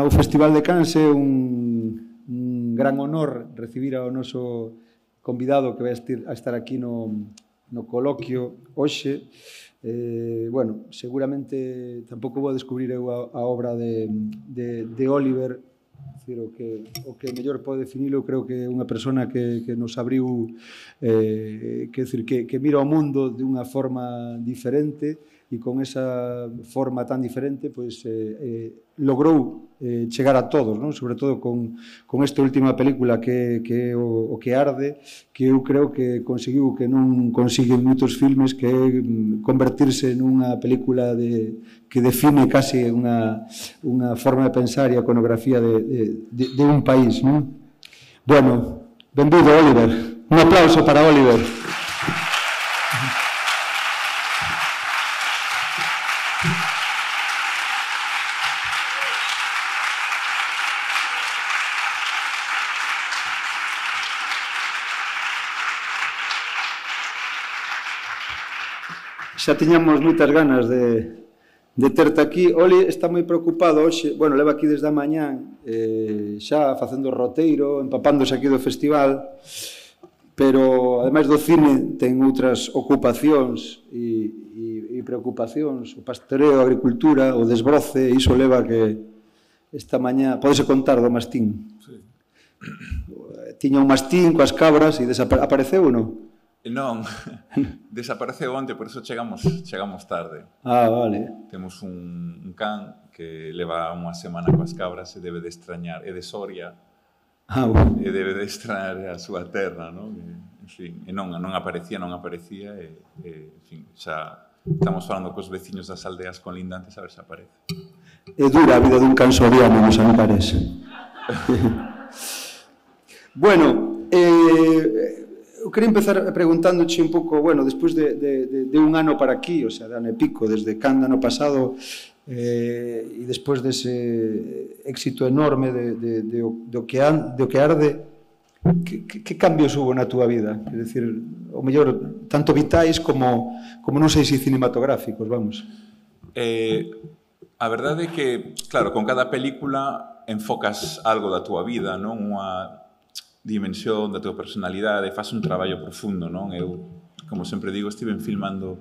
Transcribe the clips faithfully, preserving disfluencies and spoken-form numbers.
o Festival de Cans é un, un gran honor recibir ao noso convidado que vai a estar aquí no, no coloquio hoxe. Eh, bueno, seguramente tampouco vou descubrir eu a, a obra de, de, de Oliver. Decir, o que, o que mellor pode definilo, creo que é unha persona que, que nos abriu, eh, que, decir, que, que mira o mundo de unha forma diferente e con esa forma tan diferente pois, eh, eh, logrou eh, chegar a todos, non? Sobre todo con, con esta última película que, que é o, o que arde, que eu creo que conseguiu que non consiguen moitos filmes, que é convertirse nunha película de, que define casi unha, unha forma de pensar e a iconografía de, de, de, de un país, non? Bueno, benvido, Oliver. Un aplauso para Oliver. Xa tiñamos moitas ganas de, de terte aquí. Oli está moi preocupado hoxe, bueno, leva aquí desde a mañán, eh, xa facendo roteiro, empapándose aquí do festival, pero, ademais do cine, ten outras ocupacións e, e, e preocupacións, o pastoreo, a agricultura, o desbroce, e iso leva que esta mañá, podese contar do mastín. Sí. Tiña un mastín coas cabras e desapareceu ou non? Non, desapareceu onte, por iso chegamos, chegamos tarde. Ah, vale. Temos un, un can que leva unha semana coas cabras e debe de extrañar, é de Soria, ah, bueno. E debe de extrañar a súa terra, non? E, en fin, e non, non aparecía, non aparecía, e, e, en fin, xa estamos falando cos veciños das aldeas colindantes a ver se aparece. É dura a vida dun can soriano nos Ancares. Bueno, eh... eu quería empezar preguntándoche un pouco, bueno, despois de, de, de, de un ano para aquí, o sea, de ano e pico, desde Cannes ano pasado, eh, e despois dese éxito enorme de, de, de, de, o que an, de o que arde, que, que, que cambios hubo na túa vida? Quer decir, o mellor, tanto vitais como, como non sei se cinematográficos, vamos. Eh, a verdade é que, claro, con cada película enfocas algo da túa vida, non? Unha dimensión da tua personalidade, faz un traballo profundo, non? Eu, como sempre digo, estive filmando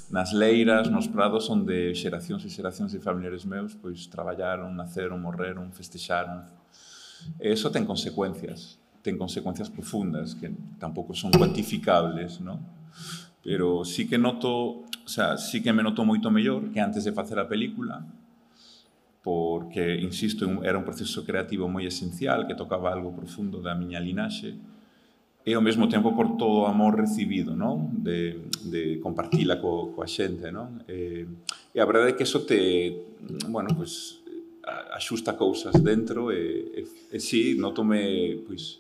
nas leiras, nos prados, onde xeracións e xeracións de familiares meus pois traballaron, naceron, morreron, festexaron. E iso ten consecuencias, ten consecuencias profundas, que tampouco son cuantificables, non? Pero sí que noto, o sea, sí que me noto moito mellor que antes de facer a película, porque, insisto, era un proceso creativo moi esencial, que tocaba algo profundo da miña linaxe, e ao mesmo tempo por todo o amor recibido, non? De, de compartila co, coa xente, non? E, e a verdade é que iso te, bueno, pues, axusta cousas dentro, e, e, e sí, notome, pois,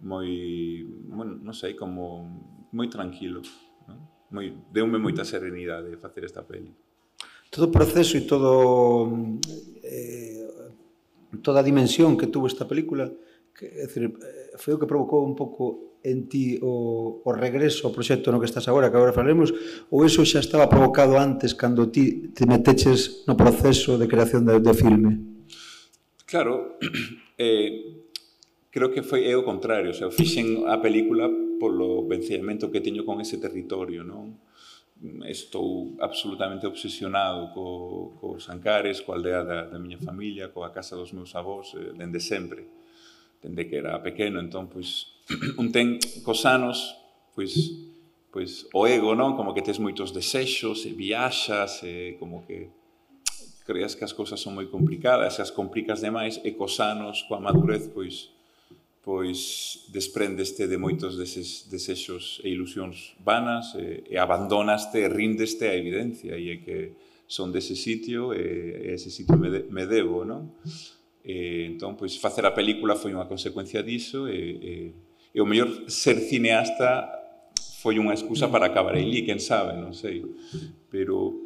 moi, bueno, non sei, como moi tranquilo, non? Moi, deume moita serenidade facer esta peli. Todo o proceso e todo eh, toda a dimensión que tuvo esta película, que, é dicir, foi o que provocou un pouco en ti o, o regreso ao proxecto no que estás agora, que agora falaremos, ou iso xa estaba provocado antes cando ti te meteches no proceso de creación de, de filme? Claro, eh, creo que foi o contrario, o sea, fixen a película polo vencillamento que teño con ese territorio, non? Estou absolutamente obsesionado co, cos Ancares, coa aldea da, da miña familia, coa casa dos meus avós, eh, dende sempre, dende que era pequeno. Entón, pois, un ten cos anos, pois, pois, o ego, non? Como que tes moitos desexos, e viaxas, e como que creas que as cousas son moi complicadas, e as complicas demais, e cos anos, coa madurez, pois, pois desprendeste de moitos deses desexos e ilusións vanas, e, e abandonaste e rindeste a evidencia, e é que son dese sitio, e, e ese sitio me, de, me debo, non? E, entón, pois, facer a película foi unha consecuencia diso, e, e, e o mellor ser cineasta foi unha excusa para acabar aí, quen sabe, non sei, pero...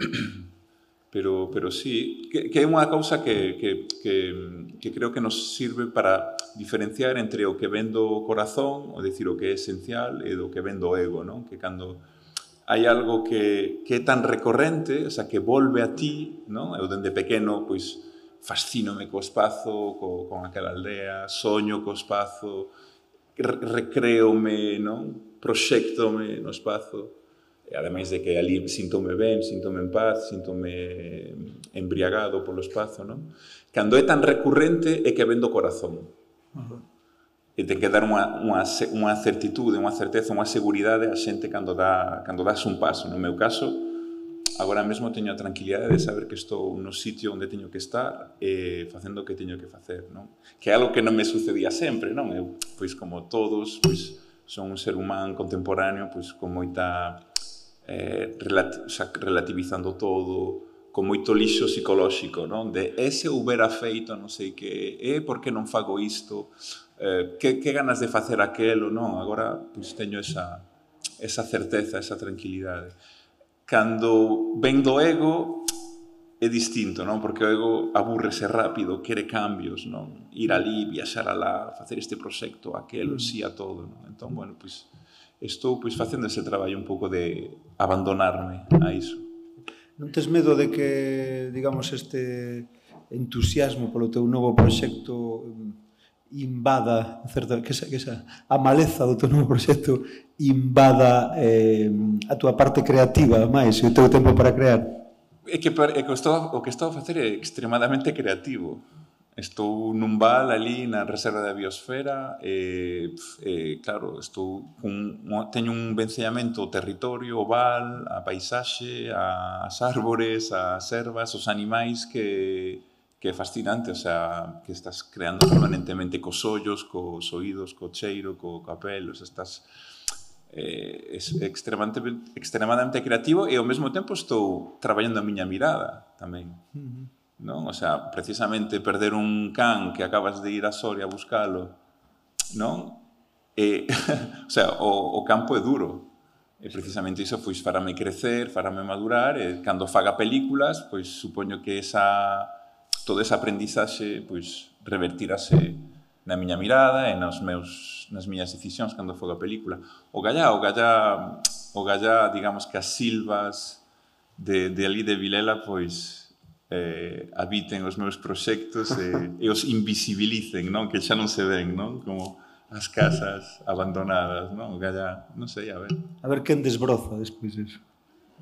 Pero, pero sí, que, que é unha cousa que, que, que, que creo que nos sirve para diferenciar entre o que ven do corazón, ou dicir, o que é esencial, e do que ven do ego, non? Que cando hai algo que, que é tan recorrente, o sea, que volve a ti, non? Eu dende pequeno, pois, fascínome co espazo, co, con aquela aldea, soño co espazo, re recreome, non? Proxéctome no espazo. E ademais de que ali síntome ben, síntome en paz, síntome embriagado polo espazo, non? Cando é tan recurrente é que vendo o corazón. Uh-huh. E ten que dar unha, unha, unha certitude, unha certeza, unha seguridade a xente cando, dá, cando das un paso. No meu caso, agora mesmo teño a tranquilidade de saber que estou no sitio onde teño que estar e facendo o que teño que facer, non? Que é algo que non me sucedía sempre, non? Eu, pois, como todos, pois, son un ser humano contemporáneo, pois, con moita... Eh, relati o sea, relativizando todo, con moito lixo psicolóxico, non? De ese houbera feito non sei que, e por que non fago isto, eh, que, que ganas de facer aquelo, non? Agora, pois, teño esa, esa certeza, esa tranquilidade. Cando ven do ego, é distinto, non? Porque o ego abúrrese rápido, quere cambios, non? Ir ali, viaxar alá, facer este proxecto, aquelo, sí a todo, non? Entón, bueno, pois... estou pois facendo ese traballo un pouco de abandonarme a iso. Non tes medo de que, digamos, este entusiasmo polo teu novo proxecto invada, certo, que esa, que esa a maleza do teu novo proxecto invada eh, a túa parte creativa máis e o teu tempo para crear? É que, é que estou, o que estou a facer é extremadamente creativo. Estou nun val ali na reserva da biosfera e, e claro, estou con, teño un vencellamento ao territorio, ao val, a paisaxe, as árbores, as ervas, os animais que, que é fascinante, o sea, que estás creando permanentemente cos ollos, cos oídos, co cheiro, co capel, o sea, estás eh, es extremadamente, extremadamente creativo e ao mesmo tempo estou traballando a miña mirada tamén. Uh-huh. Non? O sea, precisamente perder un can que acabas de ir a Soria a buscalo, non? E, o sea, o, o campo é duro. E precisamente iso, pois, farame crecer, farame madurar, e cando faga películas, pois, supoño que esa, todo ese aprendizaxe, pois, revertirase na miña mirada e nos meus, nas miñas decisións cando faga a película. O gallá, o gallá, o gallá, digamos que as silvas de, de ali de Vilela, pois, Eh, habiten os meus proxectos e, e os invisibilicen, non? Que xa non se ven, non? Como as casas abandonadas, non? O gallá, non sei, a ver. A ver quen desbroza despois iso.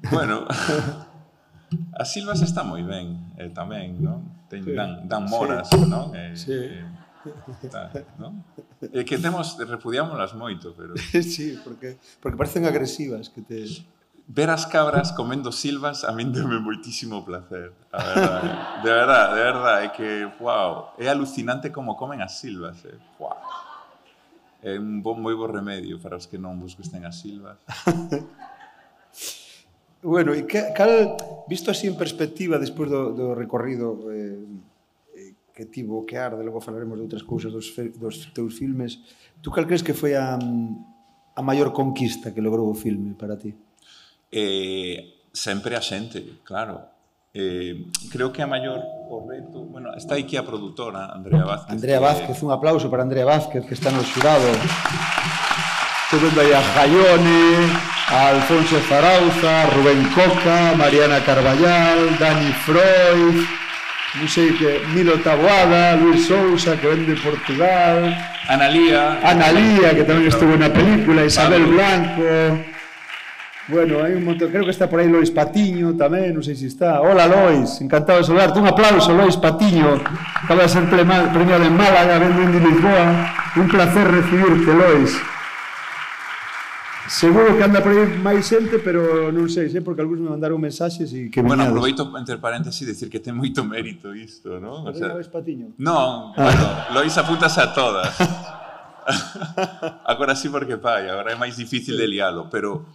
Bueno, as silvas está moi ben, eh, tamén, non? Ten, sí. dan, dan moras, sí. Non? Eh, sí. Eh, está, non? E que temos, repudiámolas moito, pero... Sí, porque, porque parecen agresivas, que te... Ver as cabras comendo silvas a min deme moitísimo placer, a verdade. De verdade, de verdade, é que, wow, é alucinante como comen as silvas, eh. Wow. É un bon, moi bo remedio para os que non vos gusten as silvas. Bueno, e que, cal, visto así en perspectiva, despois do, do recorrido eh, que tivo que arde, logo falaremos de outras cousas dos, dos teus filmes, tú cal crees que foi a, a maior conquista que logrou o filme para ti? Eh, sempre a xente, claro. Eh, creo que a maior o reto... Bueno, está aquí a produtora, Andrea Vázquez. Andrea Vázquez, que... un aplauso para Andrea Vázquez, que está no xurado. Estou vendo aí a Jaione, a Alfonso Zarauza, a Rubén Coca, Mariana Carballal, Dani Freud, non sei que, Milo Taboada, Luis Sousa, que ven de Portugal, Analía, Analía, que tamén estuvo na película, Isabel Blanco... Bueno, hai un montón, creo que está por aí Lois Patiño tamén, non sei se está. Hola Lois, encantado de saludarte. Un aplauso, Lois Patiño. Acaba de ser premiado en Málaga, vendo en Lisboa. Un placer recibirte, Lois. Seguro que anda por aí máis xente, pero non sei, sei, porque algúns me mandaron mensaxes e que bueno, aproveito entre paréntesis decir que ten moito mérito isto, non? O sea, Lois Patiño? Non, bueno, Lois apúntase a todas. Agora sí porque pai, agora é máis difícil de lialo, pero...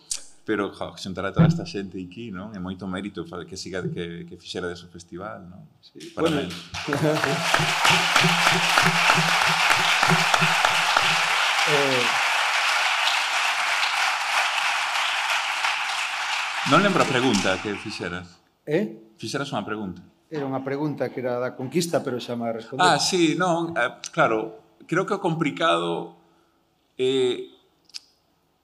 pero jo, xuntar a toda esta xente aquí, non? É moito mérito que siga que, que fixera dese festival, non? Sí, para bueno. eh... Non lembro a pregunta que fixeras. Eh? Fixeras unha pregunta. Era unha pregunta que era da conquista, pero xa me respondeu. Ah, sí, non, eh, claro, creo que o complicado é... Eh,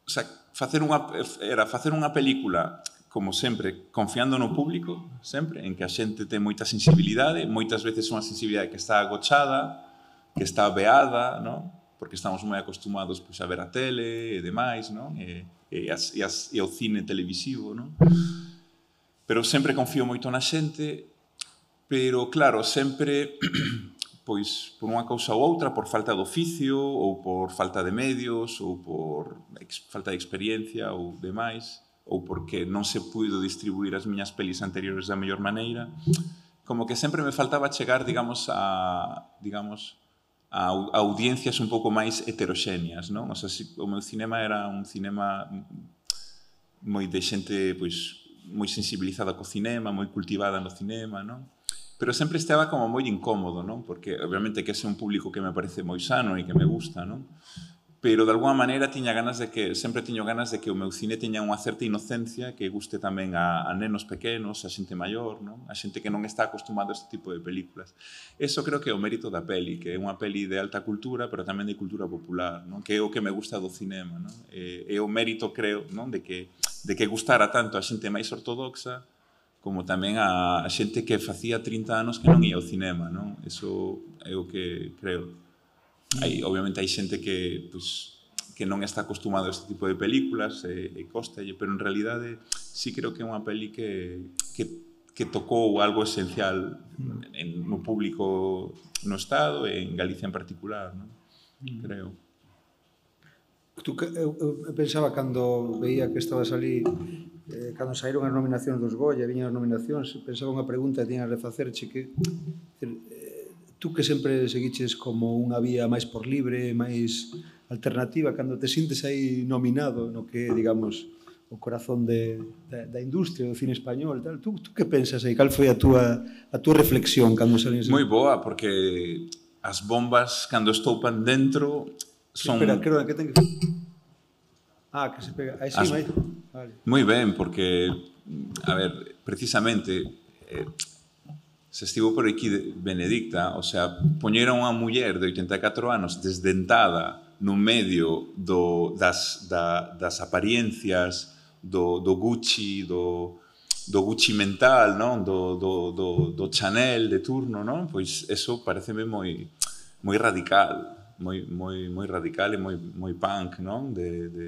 o sea, facer unha, era facer unha película como sempre, confiando no público, sempre, en que a xente ten moita sensibilidade, moitas veces unha sensibilidade que está agochada, que está veada, non? Porque estamos moi acostumados pois, a ver a tele e demais, non? E, e, as, e, as, e o cine televisivo, non? Pero sempre confío moito na xente, pero, claro, sempre, pois, por unha cousa ou outra, por falta de oficio, ou por falta de medios, ou por ex, falta de experiencia, ou demais, ou porque non se puido distribuir as miñas pelis anteriores da mellor maneira, como que sempre me faltaba chegar, digamos, a, digamos, a audiencias un pouco máis heteroxéneas, non? O sea, o meu cinema era un cinema moi de xente, pois, moi sensibilizada co cinema, moi cultivada no cinema, non? Pero sempre estaba como moi incómodo, non? Porque, obviamente, que ese é un público que me parece moi sano e que me gusta, non? Pero, de alguma maneira, tiña ganas de que, sempre tiño ganas de que o meu cine teña unha certa inocencia que guste tamén a, a nenos pequenos, a xente maior, non? A xente que non está acostumada a este tipo de películas. Eso creo que é o mérito da peli, que é unha peli de alta cultura, pero tamén de cultura popular, non? Que é o que me gusta do cinema, non? É, é o mérito, creo, non? De que, de que gustara tanto a xente máis ortodoxa como tamén a, a xente que facía trinta anos que non ia ao cinema, non? Eso é o que creo. Hai, obviamente hai xente que, pues, que non está acostumado a este tipo de películas e, e costalle, pero en realidade sí creo que é unha peli que, que, que tocou algo esencial en, no público no Estado e en Galicia en particular, non? Creo. Tú, eu, eu pensaba cando veía que estabas ali, eh, cando saíron as nominacións dos Goya, viñan as nominacións, pensaba unha pregunta que tiñas de facerche que... Tú que sempre seguiches como unha vía máis por libre, máis alternativa, cando te sintes aí nominado no que, digamos, o corazón de, da, da industria do cine español, tal, tú, tú que pensas aí? Cal foi a túa, a túa reflexión cando salís? Moi boa, porque as bombas, cando estoupan dentro, son... Espera, creo que ten que... Ah, que se pega... Aí sí, as... máis... Vale. Moi ben, porque, a ver, precisamente... Eh, se estivo por aquí Benedicta, o sea, poñera unha muller de oitenta e catro anos desdentada no medio do, das, da, das apariencias do, do Gucci, do, do Gucci mental, non? Do, do, do, do Chanel de turno, non? Pois eso pareceme moi, moi radical, moi, moi, moi radical e moi, moi punk, non? De, de,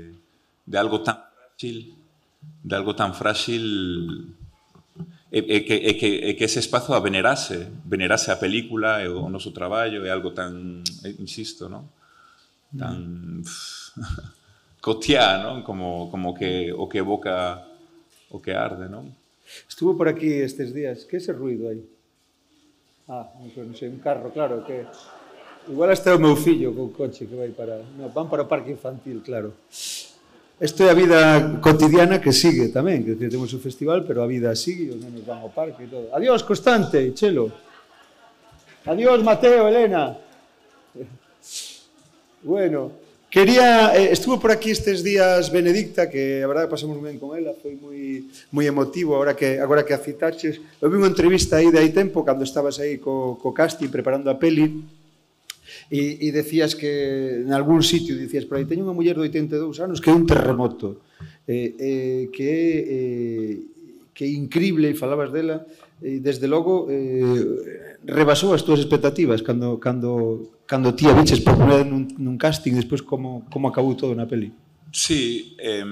de algo tan frágil, de algo tan frágil... E, e, que, e, que, e que ese espazo a venerase, venerase a película e o noso traballo é algo tan, insisto, non? Tan cotiá, non? Como, como que o que evoca o que arde, non? Estuvo por aquí estes días, que é ese ruido aí? Ah, non sei, un carro, claro, que... Igual hasta o meu fillo co coche que vai para... No, van para o parque infantil, claro. Isto é a vida cotidiana que sigue tamén, que temos o festival, pero a vida sigue, os nenos van ao parque e todo. Adiós, Constante, Chelo. Adiós, Mateo, Elena. Bueno, quería... Eh, estuvo por aquí estes días Benedicta, que a verdade pasamos ben con ela, foi moi, moi emotivo, agora que, agora que a citaches. Eu vi unha entrevista aí de hai tempo, cando estabas aí co, co casting preparando a peli, E, e decías que en algún sitio dicías por aí, teño unha muller de oitenta e dous anos que é un terremoto, eh, eh, que é eh, que é increíble, e falabas dela, e desde logo eh, rebasou as túas expectativas cando, cando, cando ti a viches por primeira nun, nun casting, despois como, como acabou todo na peli. Sí, eh,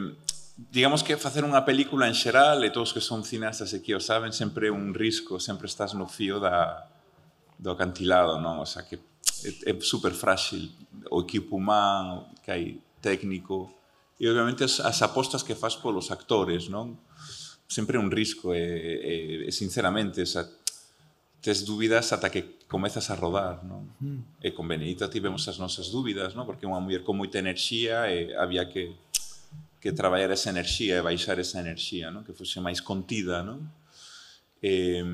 digamos que facer unha película en xeral, e todos que son cineastas aquí o saben, sempre é un risco, sempre estás no fío da, do acantilado, non? O sea, que é super frágil o equipo humano que hai técnico e obviamente as, as apostas que faz polos actores, non? Sempre é un risco e, e, e sinceramente, o sea, tes dúbidas ata que comezas a rodar, non? Mm. E con Benedicta tivemos as nosas dúbidas, non? Porque é unha muller con moita enerxía e había que, que traballar esa enerxía e baixar esa enerxía, non? Que fose máis contida, non? E,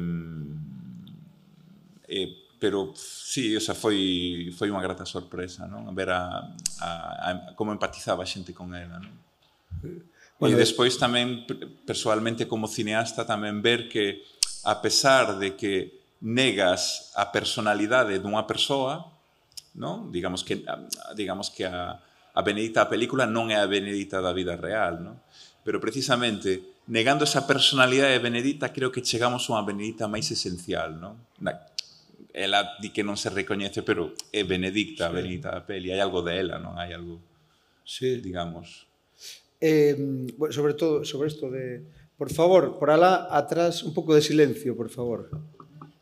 e pero sí, o sea, foi, foi unha grata sorpresa, non? Ver a, a, a, como empatizaba a xente con ela, non? Bueno, e despois tamén, persoalmente como cineasta, tamén ver que, a pesar de que negas a personalidade dunha persoa, non? Digamos que, digamos que a, a Benedicta da película non é a Benedicta da vida real, non? Pero precisamente negando esa personalidade de Benedicta, creo que chegamos a unha Benedicta máis esencial, non? Ela di que non se recoñece, pero é Benedicta, a Benedicta da peli. Hai algo de ela, non? Hai algo, sí. digamos... Eh, bueno, sobre todo, sobre isto de... Por favor, por alá, atrás, un pouco de silencio, por favor.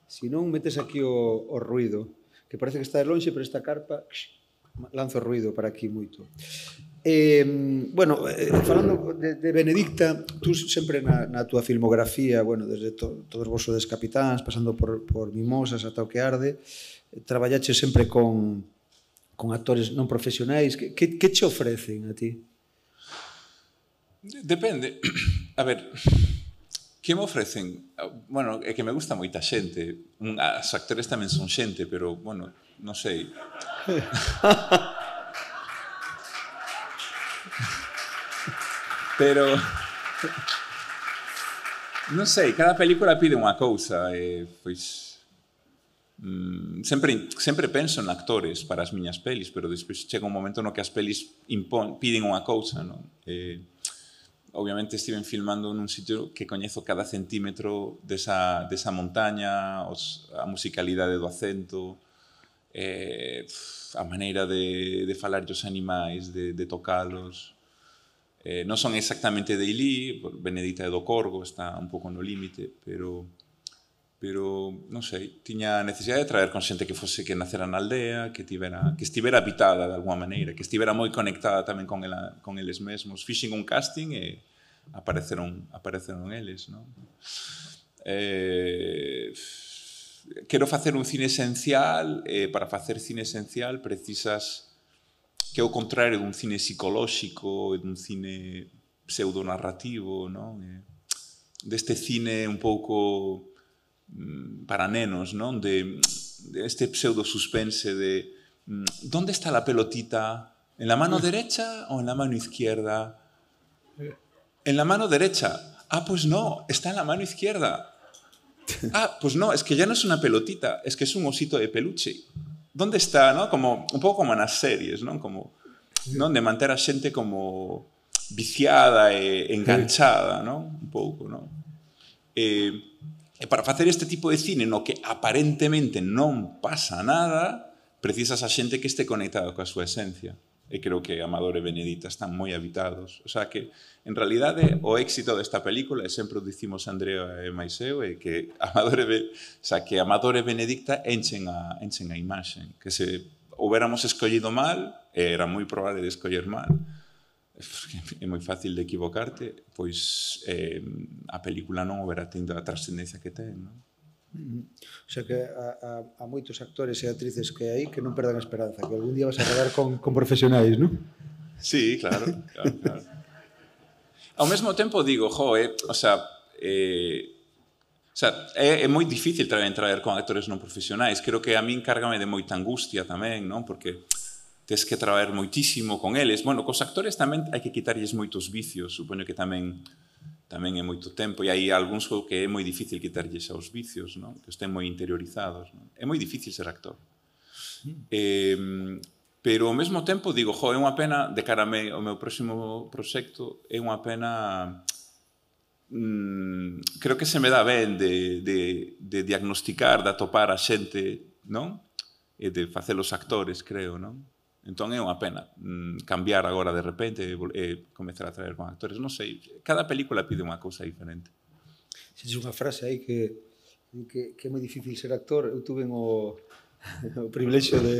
Si non, metes aquí o, o ruido, que parece que está de lonxe, pero esta carpa lanzo ruido para aquí moito. Eh, bueno, eh, falando de, de Benedicta, tú sempre na, na túa filmografía, bueno, desde to, todos vos sodes capitáns, pasando por, por Mimosas ata o que arde, eh, traballache sempre con, con actores non profesionais. Que, que, que che ofrecen a ti? Depende. A ver, que me ofrecen? Bueno, é que me gusta moita xente. Os actores tamén son xente, pero, bueno, non sei. Pero... Non sei, cada película pide unha cousa. E, pois... Mm, sempre, sempre penso en actores para as miñas pelis, pero despois chega un momento no que as pelis impon, piden unha cousa, non? E, obviamente estiven filmando nun sitio que coñezo cada centímetro desa, desa montaña, os, a musicalidade do acento, eh, a maneira de, de falar dos animais, de, de tocalos. Eh, non son exactamente de Ilí, Benedicta é do Corgo, está un pouco no límite, pero, pero non sei, tiña necesidade de traer con xente que fose que nacera na aldea, que, tivera, que estivera habitada de alguma maneira, que estivera moi conectada tamén con, ela, con eles mesmos. Fixen un casting e apareceron, apareceron eles, non? Eh, quero facer un cine esencial, e para facer cine esencial precisas que é o contrario dun cine psicolóxico e dun cine pseudonarrativo, non? E, deste cine un pouco para nenos, non? De, de este pseudo suspense de ¿dónde está la pelotita? ¿En la mano derecha o en la mano izquierda? En la mano derecha. Ah, pues no, está en la mano izquierda. Ah, pues no, es que ya no es una pelotita, es que es un osito de peluche. ¿Dónde está, no? Como, un pouco como nas series, non? Como, non? De manter a xente como viciada e enganchada, non? Un pouco, non? E, e para facer este tipo de cine no que aparentemente non pasa nada, precisas a xente que este conectada coa súa esencia. E creo que Amador e Benedicta están moi habitados. O sea que, en realidade, o éxito desta película, e sempre o dicimos Andrea e máis eu, é que Amador e, o sea, que Amador e Benedicta enchen a, enchen a imaxen. Que se houbéramos escollido mal, e era moi probable de escoller mal, é moi fácil de equivocarte, pois eh, a película non houbera tendo a trascendencia que ten, non? O sea que a, a, a moitos actores e actrices que hai que non perdan a esperanza, que algún día vas a rodar con, con profesionais, non? Sí, claro, claro, claro. Ao mesmo tempo digo, jo, eh, o sea, eh, o sea, é, é moi difícil traer, traer con actores non profesionais. Creo que a min cárgame de moita angustia tamén, non? Porque tes que traer moitísimo con eles. Bueno, cos actores tamén hai que quitarlles moitos vicios, supoño que tamén tamén é moito tempo, e hai algúns que é moi difícil quitarlles aos vicios, non? Que estén moi interiorizados, non? É moi difícil ser actor. Mm. Eh, pero ao mesmo tempo digo, jo, é unha pena, de cara ao meu próximo proxecto, é unha pena, mm, creo que se me dá ben de, de, de diagnosticar, de atopar a xente, non? E de facer os actores, creo, non? Entón é unha pena mm, cambiar agora de repente e eh, comezar a traer con actores. Non sei, cada película pide unha cousa diferente. Se unha frase aí que, que, que é moi difícil ser actor. Eu tuve o, o privilexio de,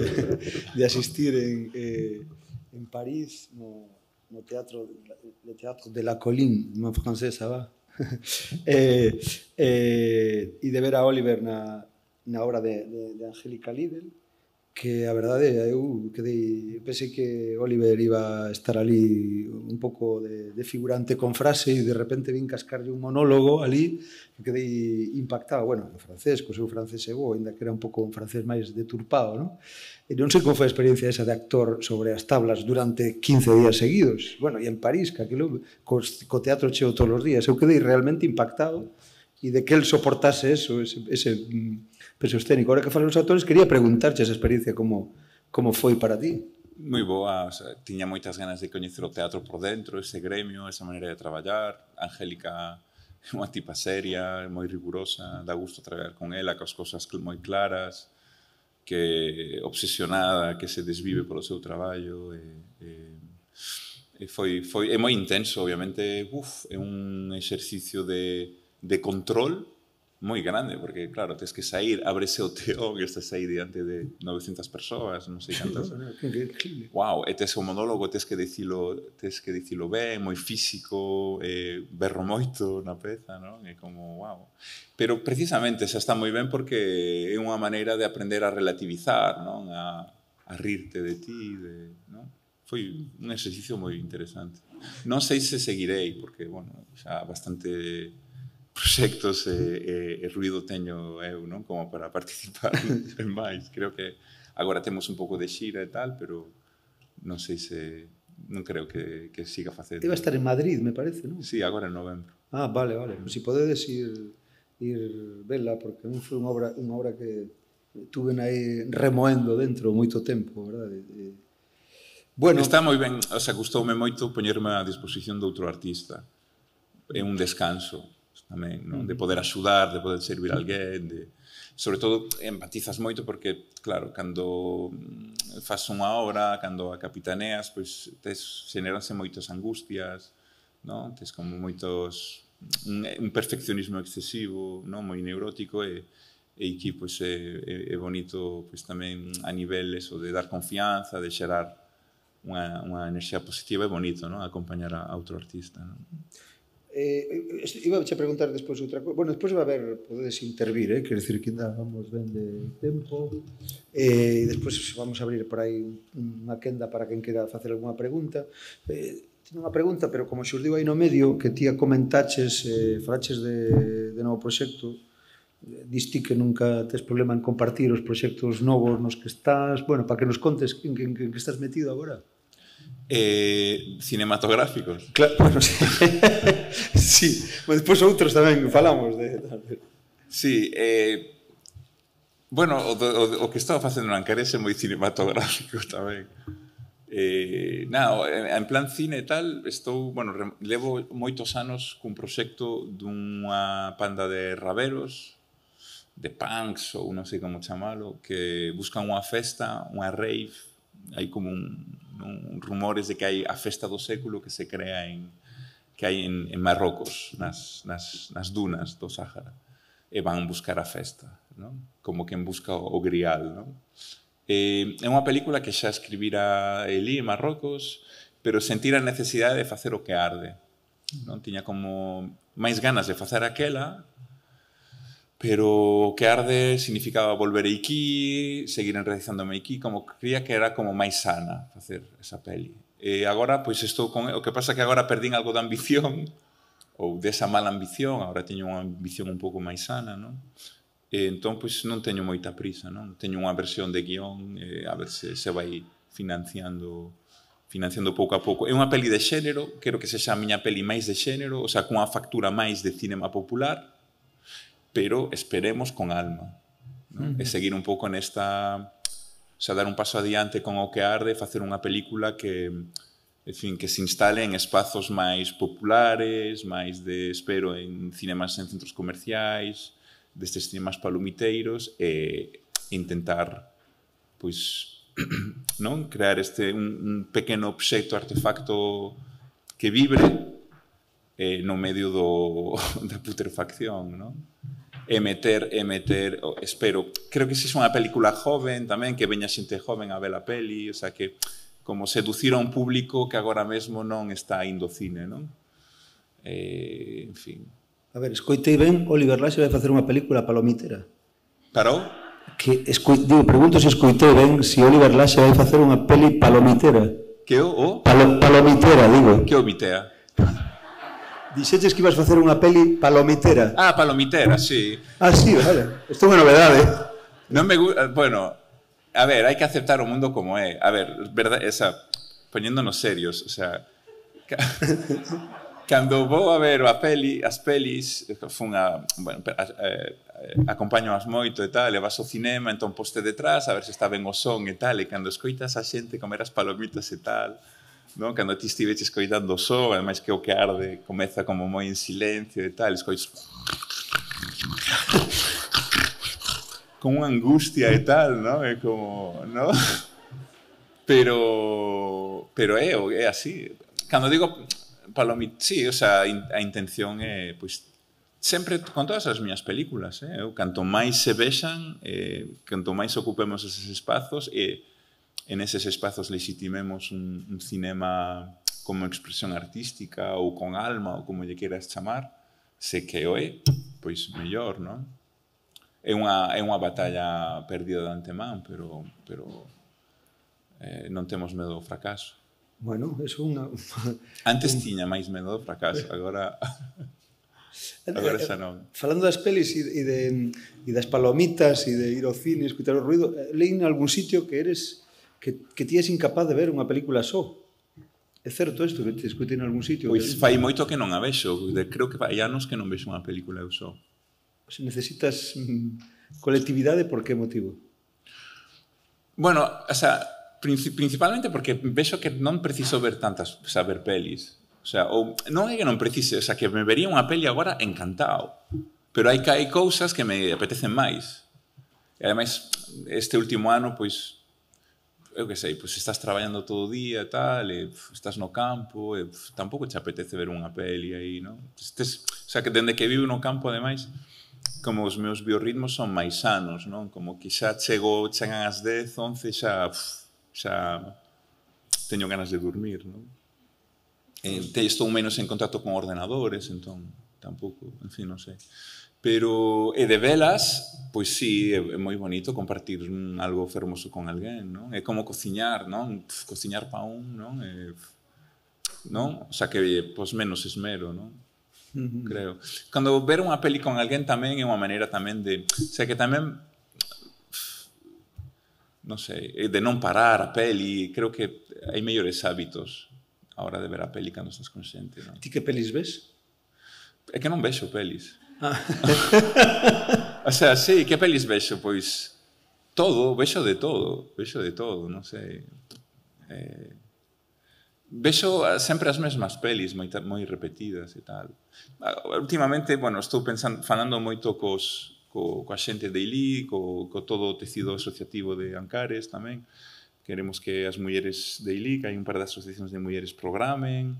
de asistir en, eh, en París no, no teatro, le teatro de la Colline, unha francesa, va? eh, eh, e de ver a Oliver na, na obra de, de, de Angélica Lidl, que a verdade, eu quedei, pensei que Oliver iba a estar ali un pouco de, de figurante con frase e de repente vin cascarlle un monólogo ali que quedei impactado. Bueno, en francés, co seu francés é bo, ainda que era un pouco un francés máis deturpado, non? E non sei como foi a experiencia esa de actor sobre as tablas durante quince días seguidos. Bueno, e en París, que aquilo, co, co teatro cheo todos os días, eu quedei realmente impactado e de que el soportase eso, ese... ese peso escénico. Ahora que falan os actores, quería preguntarche esa experiencia como, como foi para ti. moi boa, o sea, tiña moitas ganas de coñecer o teatro por dentro, ese gremio, esa maneira de traballar. Angélica é unha tipa seria, moi rigurosa, dá gusto traballar con ela, cos cosas moi claras, que obsesionada, que se desvive polo seu traballo. E, e, e foi, foi, é moi intenso, obviamente, uf, é un exercicio de, de control moi grande, porque, claro, tens que sair, ábrese o teón e estás aí diante de novecentas persoas, non sei cantas. Wow, e tes o monólogo, tes que dicilo, tes que dicilo ben, moi físico, eh, berro moito na peza, non? É como, wow. Pero, precisamente, xa está moi ben porque é unha maneira de aprender a relativizar, non? A, a rirte de ti, de, non? Foi un exercicio moi interesante. Non sei se seguirei, porque, bueno, xa bastante proxectos e, e, e ruido teño eu, non? Como para participar en máis. Creo que agora temos un pouco de xira e tal, pero non sei se... non creo que, que siga facendo. Iba a estar en Madrid, me parece, non? Sí, agora en novembro. Ah, vale, vale. Pues si podedes ir, ir vela, porque a mí foi unha obra, unha obra que tuve aí remoendo dentro moito tempo, verdade? E, bueno, está moi ben, o sea, gustoume moito poñerme á disposición de outro artista. É un descanso tamén, non? De poder axudar, de poder servir a alguén, de... sobre todo empatizas moito porque, claro, cando faz unha obra, cando a capitaneas, pois tes, xeneranse moitas angustias, non? Tes como moitos... un, un perfeccionismo excesivo, non? Moi neurótico e, e aquí, pois, é, é bonito, pois, tamén a nivel eso de dar confianza, de xerar unha, unha enerxía positiva, é bonito, non? Acompañar a, a outro artista, non? Eh, iba a che preguntar despois outra cousa. Bueno, despois vai haber, podedes intervir, eh? Quer decir que ainda vamos ben de tempo. E eh, despois vamos a abrir por aí unha quenda para quen queira facer algunha pregunta. Eh, Tiene unha pregunta, pero como xurdiu aí no medio, que ti a comentaches, eh, falaches de, de novo proxecto, diste que nunca tes problema en compartir os proxectos novos nos que estás, bueno, para que nos contes en que, en que estás metido agora. Eh, cinematográficos. Claro, bueno, sí. Sí, mas despois outros tamén falamos de... Sí, eh, bueno, o, o, o que estaba facendo na Ancares é moi cinematográfico tamén. Eh, nada, en plan cine e tal, estou, bueno, levo moitos anos cun proxecto dunha panda de raveros, de punks ou non sei como chamalo, que buscan unha festa, unha rave, hai como un, un rumores de que hai a festa do século que se crea en que hai en, en Marrocos, nas, nas, nas dunas do Sáhara, e van buscar a festa, non? Como quen busca o, o grial, non? Eh, é unha película que xa escribira Elí en Marrocos, pero sentir a necesidade de facer o que arde, non? Tiña como máis ganas de facer aquela, pero o que arde significaba volver aquí, seguir enraizándome aquí, como creía que era como máis sana facer esa peli. E agora, pois, estou con... O que pasa é que agora perdín algo de ambición, ou desa mala ambición, agora teño unha ambición un pouco máis sana, non? E entón, pois, non teño moita prisa, non? Teño unha versión de guión, e a ver se se vai financiando financiando pouco a pouco. É unha peli de xénero, quero que sexa a miña peli máis de xénero, o sea, cunha factura máis de cinema popular, pero esperemos con alma, non? Uh-huh. E seguir un pouco nesta... O sea, dar un paso adiante con o que arde, facer unha película que, en fin, que se instale en espazos máis populares, máis de, espero, en cinemas en centros comerciais, destes cinemas palomiteiros, e intentar, pois, non? Crear este, un, un pequeno obxecto, artefacto que vibre eh, no medio do, da putrefacción, non? E meter, e meter, espero, creo que se é unha película joven tamén, que veña xente joven a ver a peli, o sea, que como seducir a un público que agora mesmo non está indo cine, non? Eh, en fin. A ver, escoitei ben, Oliver Laxe vai facer unha película palomitera. Parou? Que, escoi, digo, pregunto se escoitei ben se Oliver Laxe vai facer unha peli palomitera. Que o? o? Palo, palomitera, digo. Que o mitea? Dixeches que ibas facer unha peli palomitera. Ah, palomitera, sí. Ah, sí, vale. Isto é unha novedade. Non me gusta, bueno, a ver, hai que aceptar o mundo como é. A ver, verdad, esa, poniéndonos serios, o sea, Cando vou a ver a peli, as pelis, fun a, bueno, a, a, acompaño as moito e tal, e vas ao cinema, entón poste detrás, a ver se está ben o son e tal, e cando escoitas a xente comer as palomitas e tal, non? Cando ti estiveches escoitando o son, ademais que o que arde comeza como moi en silencio e tal, escoitas con unha angustia e tal, non? É como, non? Pero, pero é, é así. Cando digo palomita, sí, o sea, a intención é, pois, sempre con todas as miñas películas, eh? Eu, canto máis se vexan, eh, canto máis ocupemos eses espazos, e en eses espazos legitimemos un, un cinema como expresión artística ou con alma, ou como lle queras chamar, se que o é, pois mellor, non? É unha, é unha batalla perdida de antemán, pero, pero eh, non temos medo ao fracaso. Bueno, é unha... Antes tiña máis medo ao fracaso, agora... agora xa non. Falando das pelis e, de, e das palomitas e de ir ao cine, escutar o ruido, leí en algún sitio que eres que, que ti és incapaz de ver unha película só. É certo isto que te escutei en algún sitio? Pois fai moito que non a vexo. Creo que fai anos que non vexo unha película eu só. Se necesitas mm, colectividade, por que motivo? Bueno, o sea, principalmente porque vexo que non preciso ver tantas, saber pelis. O sea, ou, non é que non precise, o sea, que me vería unha peli agora encantado. Pero hai que hai cousas que me apetecen máis. E ademais, este último ano, pois, eu que sei, pois estás traballando todo o día e tal, e pf, estás no campo, e pf, tampouco te apetece ver unha peli aí, non? Estes, o sea, que dende que vivo no campo, ademais, como os meus biorritmos son máis sanos, non? Como que xa chego, chegan as dez, once, xa, pf, xa teño ganas de dormir, non? Eh, estou menos en contacto con ordenadores, entón, tampouco, en fin, non sei. Pero, e de velas, pois sí, é, é moi bonito compartir un, algo fermoso con alguén, non? É como cociñar, non? Pff, cociñar pa un, non? É, non? O sea, que, pois, menos esmero, non? Uh-huh. Creo. Cando ver unha peli con alguén tamén é unha maneira tamén de... O sea, que tamén... Non sei, de non parar a peli. Creo que hai mellores hábitos a hora de ver a peli cando estás con xente, non? Ti que pelis ves? É que non vexo pelis. Ah. O sea, sí, que pelis vexo? Pois todo, vexo de todo, vexo de todo, non sei. Eh, vexo sempre as mesmas pelis, moi, moi repetidas e tal. Últimamente, bueno, estou pensando, falando moito cos, co, coa xente de I L I, co, co todo o tecido asociativo de Ancares tamén. Queremos que as mulleres de I L I, que hai un par de asociacións de mulleres, programen.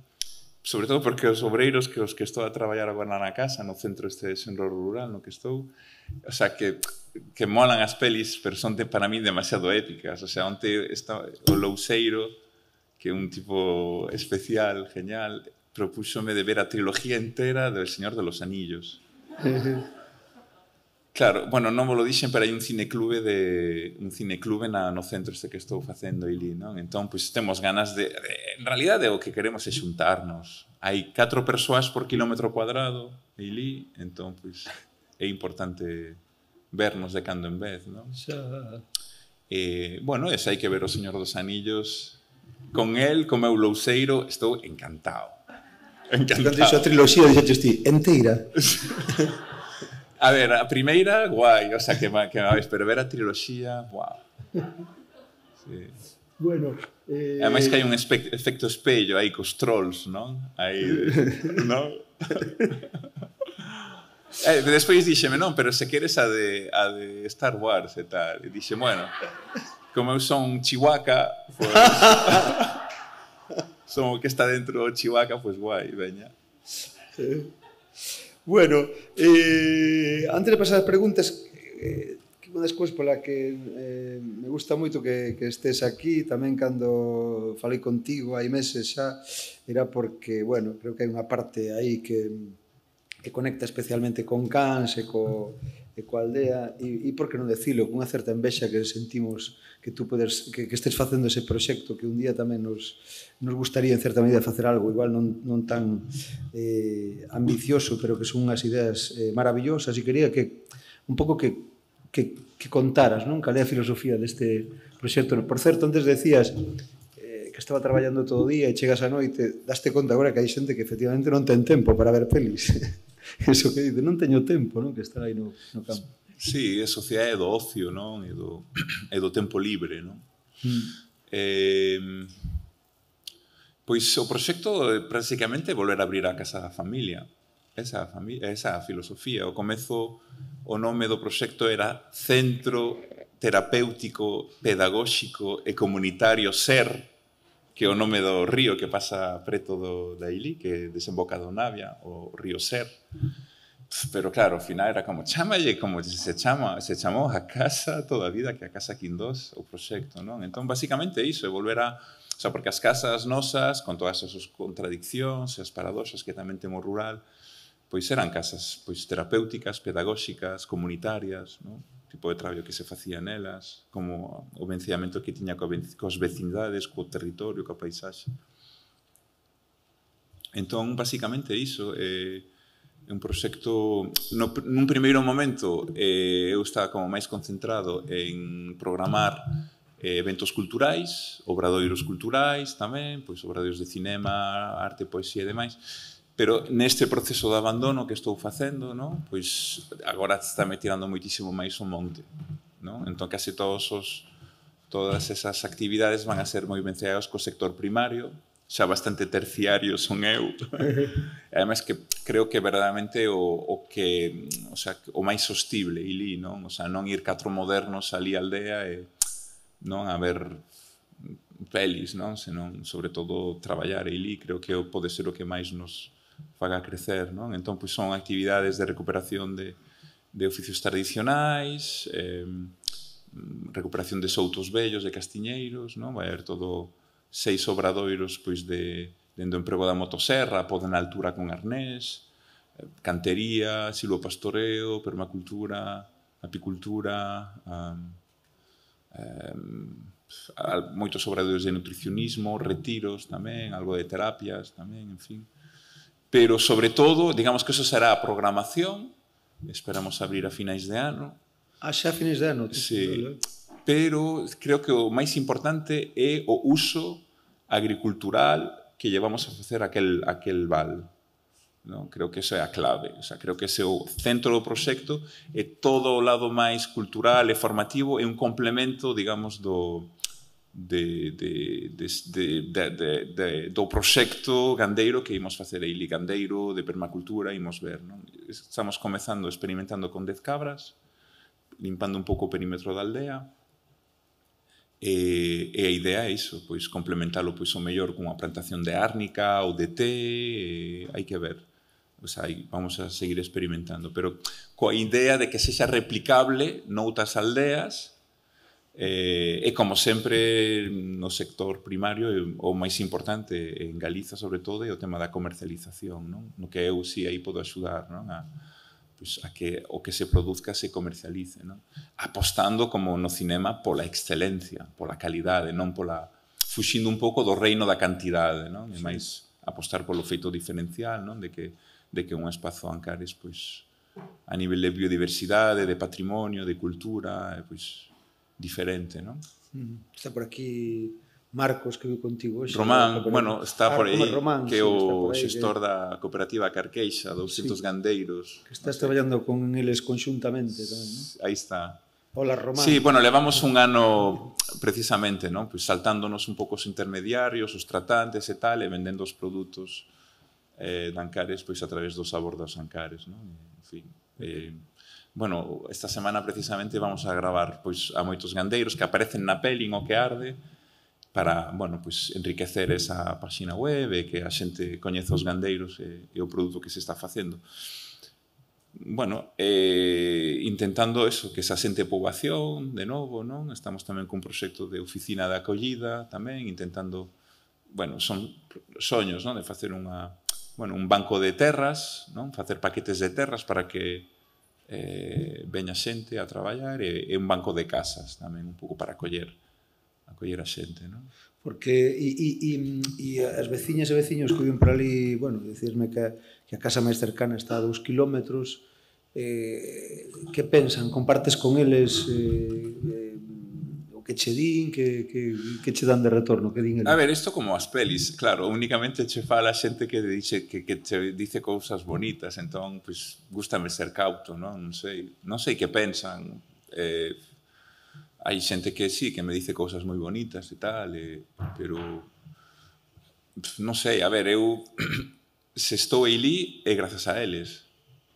Sobre todo porque os obreiros que os que estou a traballar agora na casa, no centro este de Xenro Rural, no que estou, o sea, que, que molan as pelis, pero son de, para mí demasiado épicas. O sea, onte está o Louseiro, que é un tipo especial, genial, propúxome de ver a trilogía entera do El Señor de los Anillos. Claro, bueno, non vos lo dixen, pero hai un cineclube de un cineclube na, no centro este que estou facendo I L I, non? Entón, pois, temos ganas de, de... En realidade, o que queremos é xuntarnos. Hai catro persoas por kilómetro cuadrado de I L I, entón, pois, é importante vernos de cando en vez, non? Xa... Eh, bueno, ese hai que ver o Señor dos Anillos. Con el, con meu louseiro, estou encantado. Encantado. Cando dixo a triloxía, dixeches ti, enteira. A ver, a primeira, guai, o sea, que me, que me vais, pero ver a triloxía, guau. Sí. Bueno, eh... Ademais que hai un efecto espello aí cos trolls, non? Aí, non? Eh, despois dixeme, non, pero se queres a de, a de Star Wars e tal. E dixe, bueno, como eu son Chihuahua, pues, son o que está dentro do Chihuahua, pues guai, veña. Sí. Bueno, eh, antes de pasar as preguntas, eh, unha das cousas pola que eh, me gusta moito que, que estés aquí, tamén cando falei contigo hai meses xa, era porque, bueno, creo que hai unha parte aí que, que conecta especialmente con Cans e co, e coa aldea, e, e por que non decilo, con unha certa envexa que sentimos que tú podes, que, que estés facendo ese proxecto, que un día tamén nos, nos gustaría en certa medida facer algo igual non, non tan eh, ambicioso, pero que son unhas ideas eh, maravillosas, e quería que un pouco que, que, que contaras, non? Cal é a filosofía deste proxecto. Por certo, antes decías eh, que que estaba traballando todo o día e chegas a noite, daste conta agora que hai xente que efectivamente non ten tempo para ver pelis. Eso que dice, non teño tempo, non? Que estar aí no, no campo. Sí, a sociedade do ocio, non? E do, e do tempo libre, non? Mm. Eh, pois o proxecto é prácticamente volver a abrir a casa da familia. Esa, familia, esa filosofía. O comezo, o nome do proxecto era Centro Terapéutico, Pedagóxico e Comunitario Ser, que é o nome do río que pasa preto do, da Ilí, que desemboca do Navia, o río Ser. Pero claro, ao final era como, chámalle como se chama, se chamou a casa toda a vida, que a Casa Quindós, o proxecto, non? Entón, basicamente iso, é volver a... O sea, porque as casas nosas, con todas as contradiccións e as paradoxas que tamén temos rural, pois eran casas pois terapéuticas, pedagóxicas, comunitarias, non? O tipo de traballo que se facía nelas, como o vencillamento que tiña coas vecinidades, co territorio, coa paisaxe. Entón, basicamente, iso é un proxecto... No, nun primeiro momento, eh, eu estaba como máis concentrado en programar eh, eventos culturais, obradoiros culturais tamén, pois obradoiros de cinema, arte, poesía e demais. Pero neste proceso de abandono que estou facendo, non? Pois agora está me tirando moitísimo máis o monte, non? Entón, case todos os, todas esas actividades van a ser moi venciadas co sector primario, xa bastante terciario son eu. E ademais que creo que verdadeiramente o, o que, o sea, o máis sostible, Ilí, non? O sea, non ir catro modernos ali á aldea e non a ver pelis, non? Senón, sobre todo, traballar Ilí, creo que pode ser o que máis nos faga crecer, non? Entón, pois, son actividades de recuperación de, de oficios tradicionais, eh, recuperación de soutos vellos, de castiñeiros, non? Vai haber todo seis obradoiros, pois, de, dende o emprego da motosserra, poden na altura con arnés, cantería, silvopastoreo, permacultura, apicultura, um, um, moitos obradoiros de nutricionismo, retiros tamén, algo de terapias tamén, en fin. Pero, sobre todo, digamos que eso será a programación, esperamos abrir a finais de ano. Ah, xa a finais de ano? Sí, pero creo que o máis importante é o uso agricultural que llevamos a facer aquel, aquel val. ¿No? Creo que eso é a clave. O sea, creo que ese é o centro do proxecto e todo o lado máis cultural e formativo é un complemento, digamos, do... De, de, de, de, de, de, do proxecto gandeiro que imos facer aí, gandeiro, de permacultura, imos ver, non? Estamos comezando, experimentando con dez cabras, limpando un pouco o perímetro da aldea, e, e a idea é iso, pois complementalo pois o mellor cunha plantación de árnica ou de té, e, hai que ver. O sea, aí vamos a seguir experimentando, pero coa idea de que sexa replicable noutras aldeas. Eh, e como sempre no sector primario o máis importante en Galiza sobre todo é o tema da comercialización, non? No que eu si aí podo axudar, non? A, pues, a que o que se produzca se comercialice, non? Apostando como no cinema pola excelencia, pola calidade, non pola fuxindo un pouco do reino da cantidade, non? E máis apostar polo feito diferencial, non? De que de que un espazo Ancares pois a nivel de biodiversidade, de patrimonio, de cultura, pois diferente, non? Está por aquí Marcos, que viu contigo hoxe. Román, bueno, está por aí, Román, que é sí, o aí, xestor que... da cooperativa Carqueixa, douscentos sí. Gandeiros. Que estás traballando con eles conxuntamente tamén, non? Aí está. Hola, Román. Sí, bueno, levamos un ano precisamente, non? Pues saltándonos un pouco os intermediarios, os tratantes e tal, e vendendo os produtos eh, de Ancares pois, a través do sabor dos Ancares, non? En fin, eh, bueno, esta semana precisamente vamos a gravar pois, a moitos gandeiros que aparecen na peli en O que arde para, bueno, pois, enriquecer esa página web e que a xente coñeza os gandeiros e, e o produto que se está facendo. Bueno, eh, intentando eso, que se asente poboación de novo, non? Estamos tamén cun proxecto de oficina de acollida tamén, intentando, bueno, son soños, non? De facer unha, bueno, un banco de terras, non? Facer paquetes de terras para que eh, veña xente a traballar e, e un banco de casas tamén, un pouco para acoller, acoller a xente, non? Porque e, e, e, e as veciñas e veciños que viven por ali, bueno, dicirme que, que a casa máis cercana está a dous kilómetros, eh, que pensan? Compartes con eles eh, eh, o que che din, que, que, que che dan de retorno, que din A ver, isto como as pelis, claro, únicamente che fala xente que dice que, que che dice cousas bonitas, entón, pois, gústame ser cauto, non? Non sei, non sei que pensan. Eh, hai xente que sí, que me dice cousas moi bonitas e tal, eh, pero non sei, a ver, eu se estou aí é grazas a eles,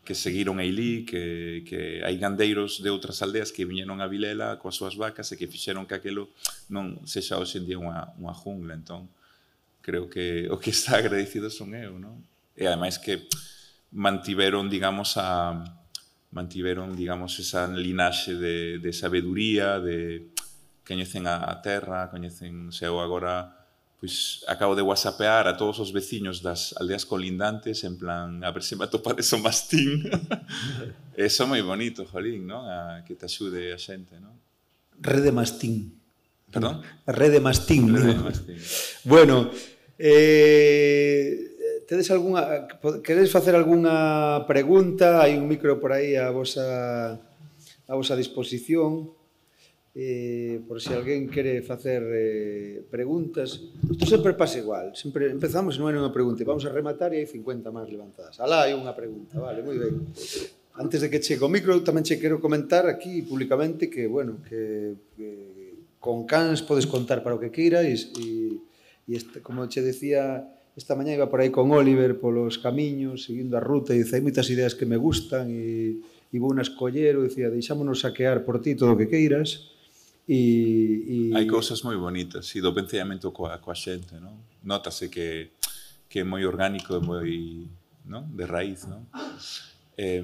que seguiron aí, que, que hai gandeiros de outras aldeas que viñeron a Vilela coas súas vacas e que fixeron que aquelo non sexa hoxe en día unha, unha jungla. Entón, creo que o que está agradecido son eu, non? E ademais que mantiveron, digamos, a mantiveron, digamos, esa linaxe de, de sabeduría, de coñecen a, a terra, coñecen, se eu agora pois acabo de whatsappear a todos os veciños das aldeas colindantes en plan, a ver se me atopades o mastín. Eso é moi bonito, jolín, non? A que te axude a xente, non? Rede mastín. Perdón? Rede mastín. Rede mastín. Bueno, eh, tedes algunha, queredes facer algunha pregunta? Hai un micro por aí a vosa, a vosa disposición. Eh, por se alguén quere facer eh, preguntas. Isto sempre pasa igual, sempre empezamos e non hai unha pregunta, vamos a rematar e hai cincuenta máis levantadas. Alá hai unha pregunta, vale, moi ben. Antes de que chegue o micro, tamén che quero comentar aquí públicamente que, bueno, que, que con cans podes contar para o que queiras e, e este, como che decía, esta mañá iba por aí con Oliver polos camiños, seguindo a ruta, e dice, hai moitas ideas que me gustan e, e vou na escoller, e dicía, deixámonos saquear por ti todo o que queiras. E, e... Hai cousas moi bonitas, e do venceamento coa, coa xente, non? Notase que, que é moi orgánico e moi, non? De raíz, non? Eh,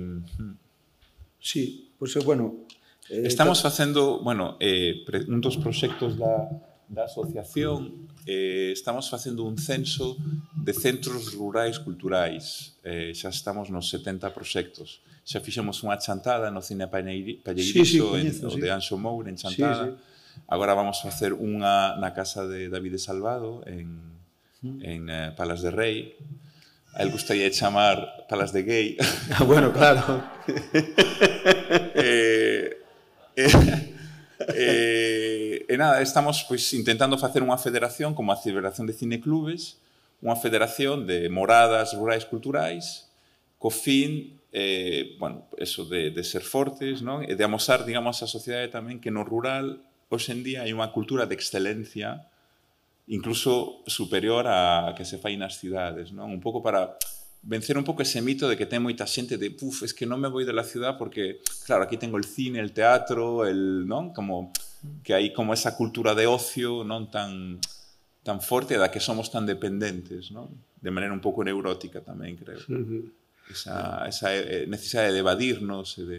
sí, pois, pues, bueno... Eh, estamos facendo, bueno, eh, un dos proxectos da, da asociación, eh, estamos facendo un censo de centros rurais culturais. Eh, xa estamos nos setenta proxectos. Xa fixemos unha chantada no Cine Palleirizo, sí, sí, coñezo, en, sí. de Anxo Moure, en Chantada. Sí, sí. Agora vamos a facer unha na casa de David Salvado, en, mm. en eh, Palas de Rei. A él gustaría chamar Palas de Gay. Ah, bueno, claro. eh, eh, eh, e nada, estamos pois, intentando facer unha federación como a Federación de Cineclubes, unha federación de moradas rurais culturais, co fin Eh, bueno, eso de, de ser fortes, non? E de amosar, digamos, a sociedade tamén que no rural, hoxe en día, hai unha cultura de excelencia incluso superior a que se fai nas cidades, non? Un pouco para vencer un pouco ese mito de que ten moita xente de, puf, es que non me voy de la ciudad porque, claro, aquí tengo el cine, el teatro, el, non? Como que hai como esa cultura de ocio, non? Tan, tan forte, da que somos tan dependentes, non? De maneira un pouco neurótica tamén, creo. Sí. Esa, esa necesidade de evadirnos e de...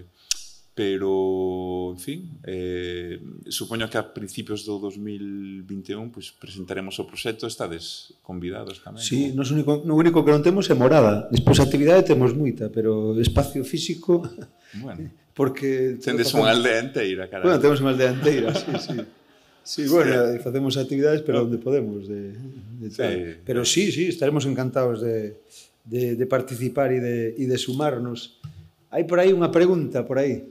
pero, en fin, eh, supoño que a principios do dos mil vinte e un pues, presentaremos o proxecto, estades convidados tamén. Sí, nos único, no único que non temos é morada, despois a actividade temos moita, pero espacio físico... Bueno, porque tendes unha aldea inteira, carai. Bueno, temos unha aldea inteira, sí, sí. Sí, bueno, sí. Facemos actividades, pero onde podemos, de, de tal. Sí. Pero sí, sí, estaremos encantados de... De, de participar e de, e de sumarnos. Hai por aí unha pregunta, por aí.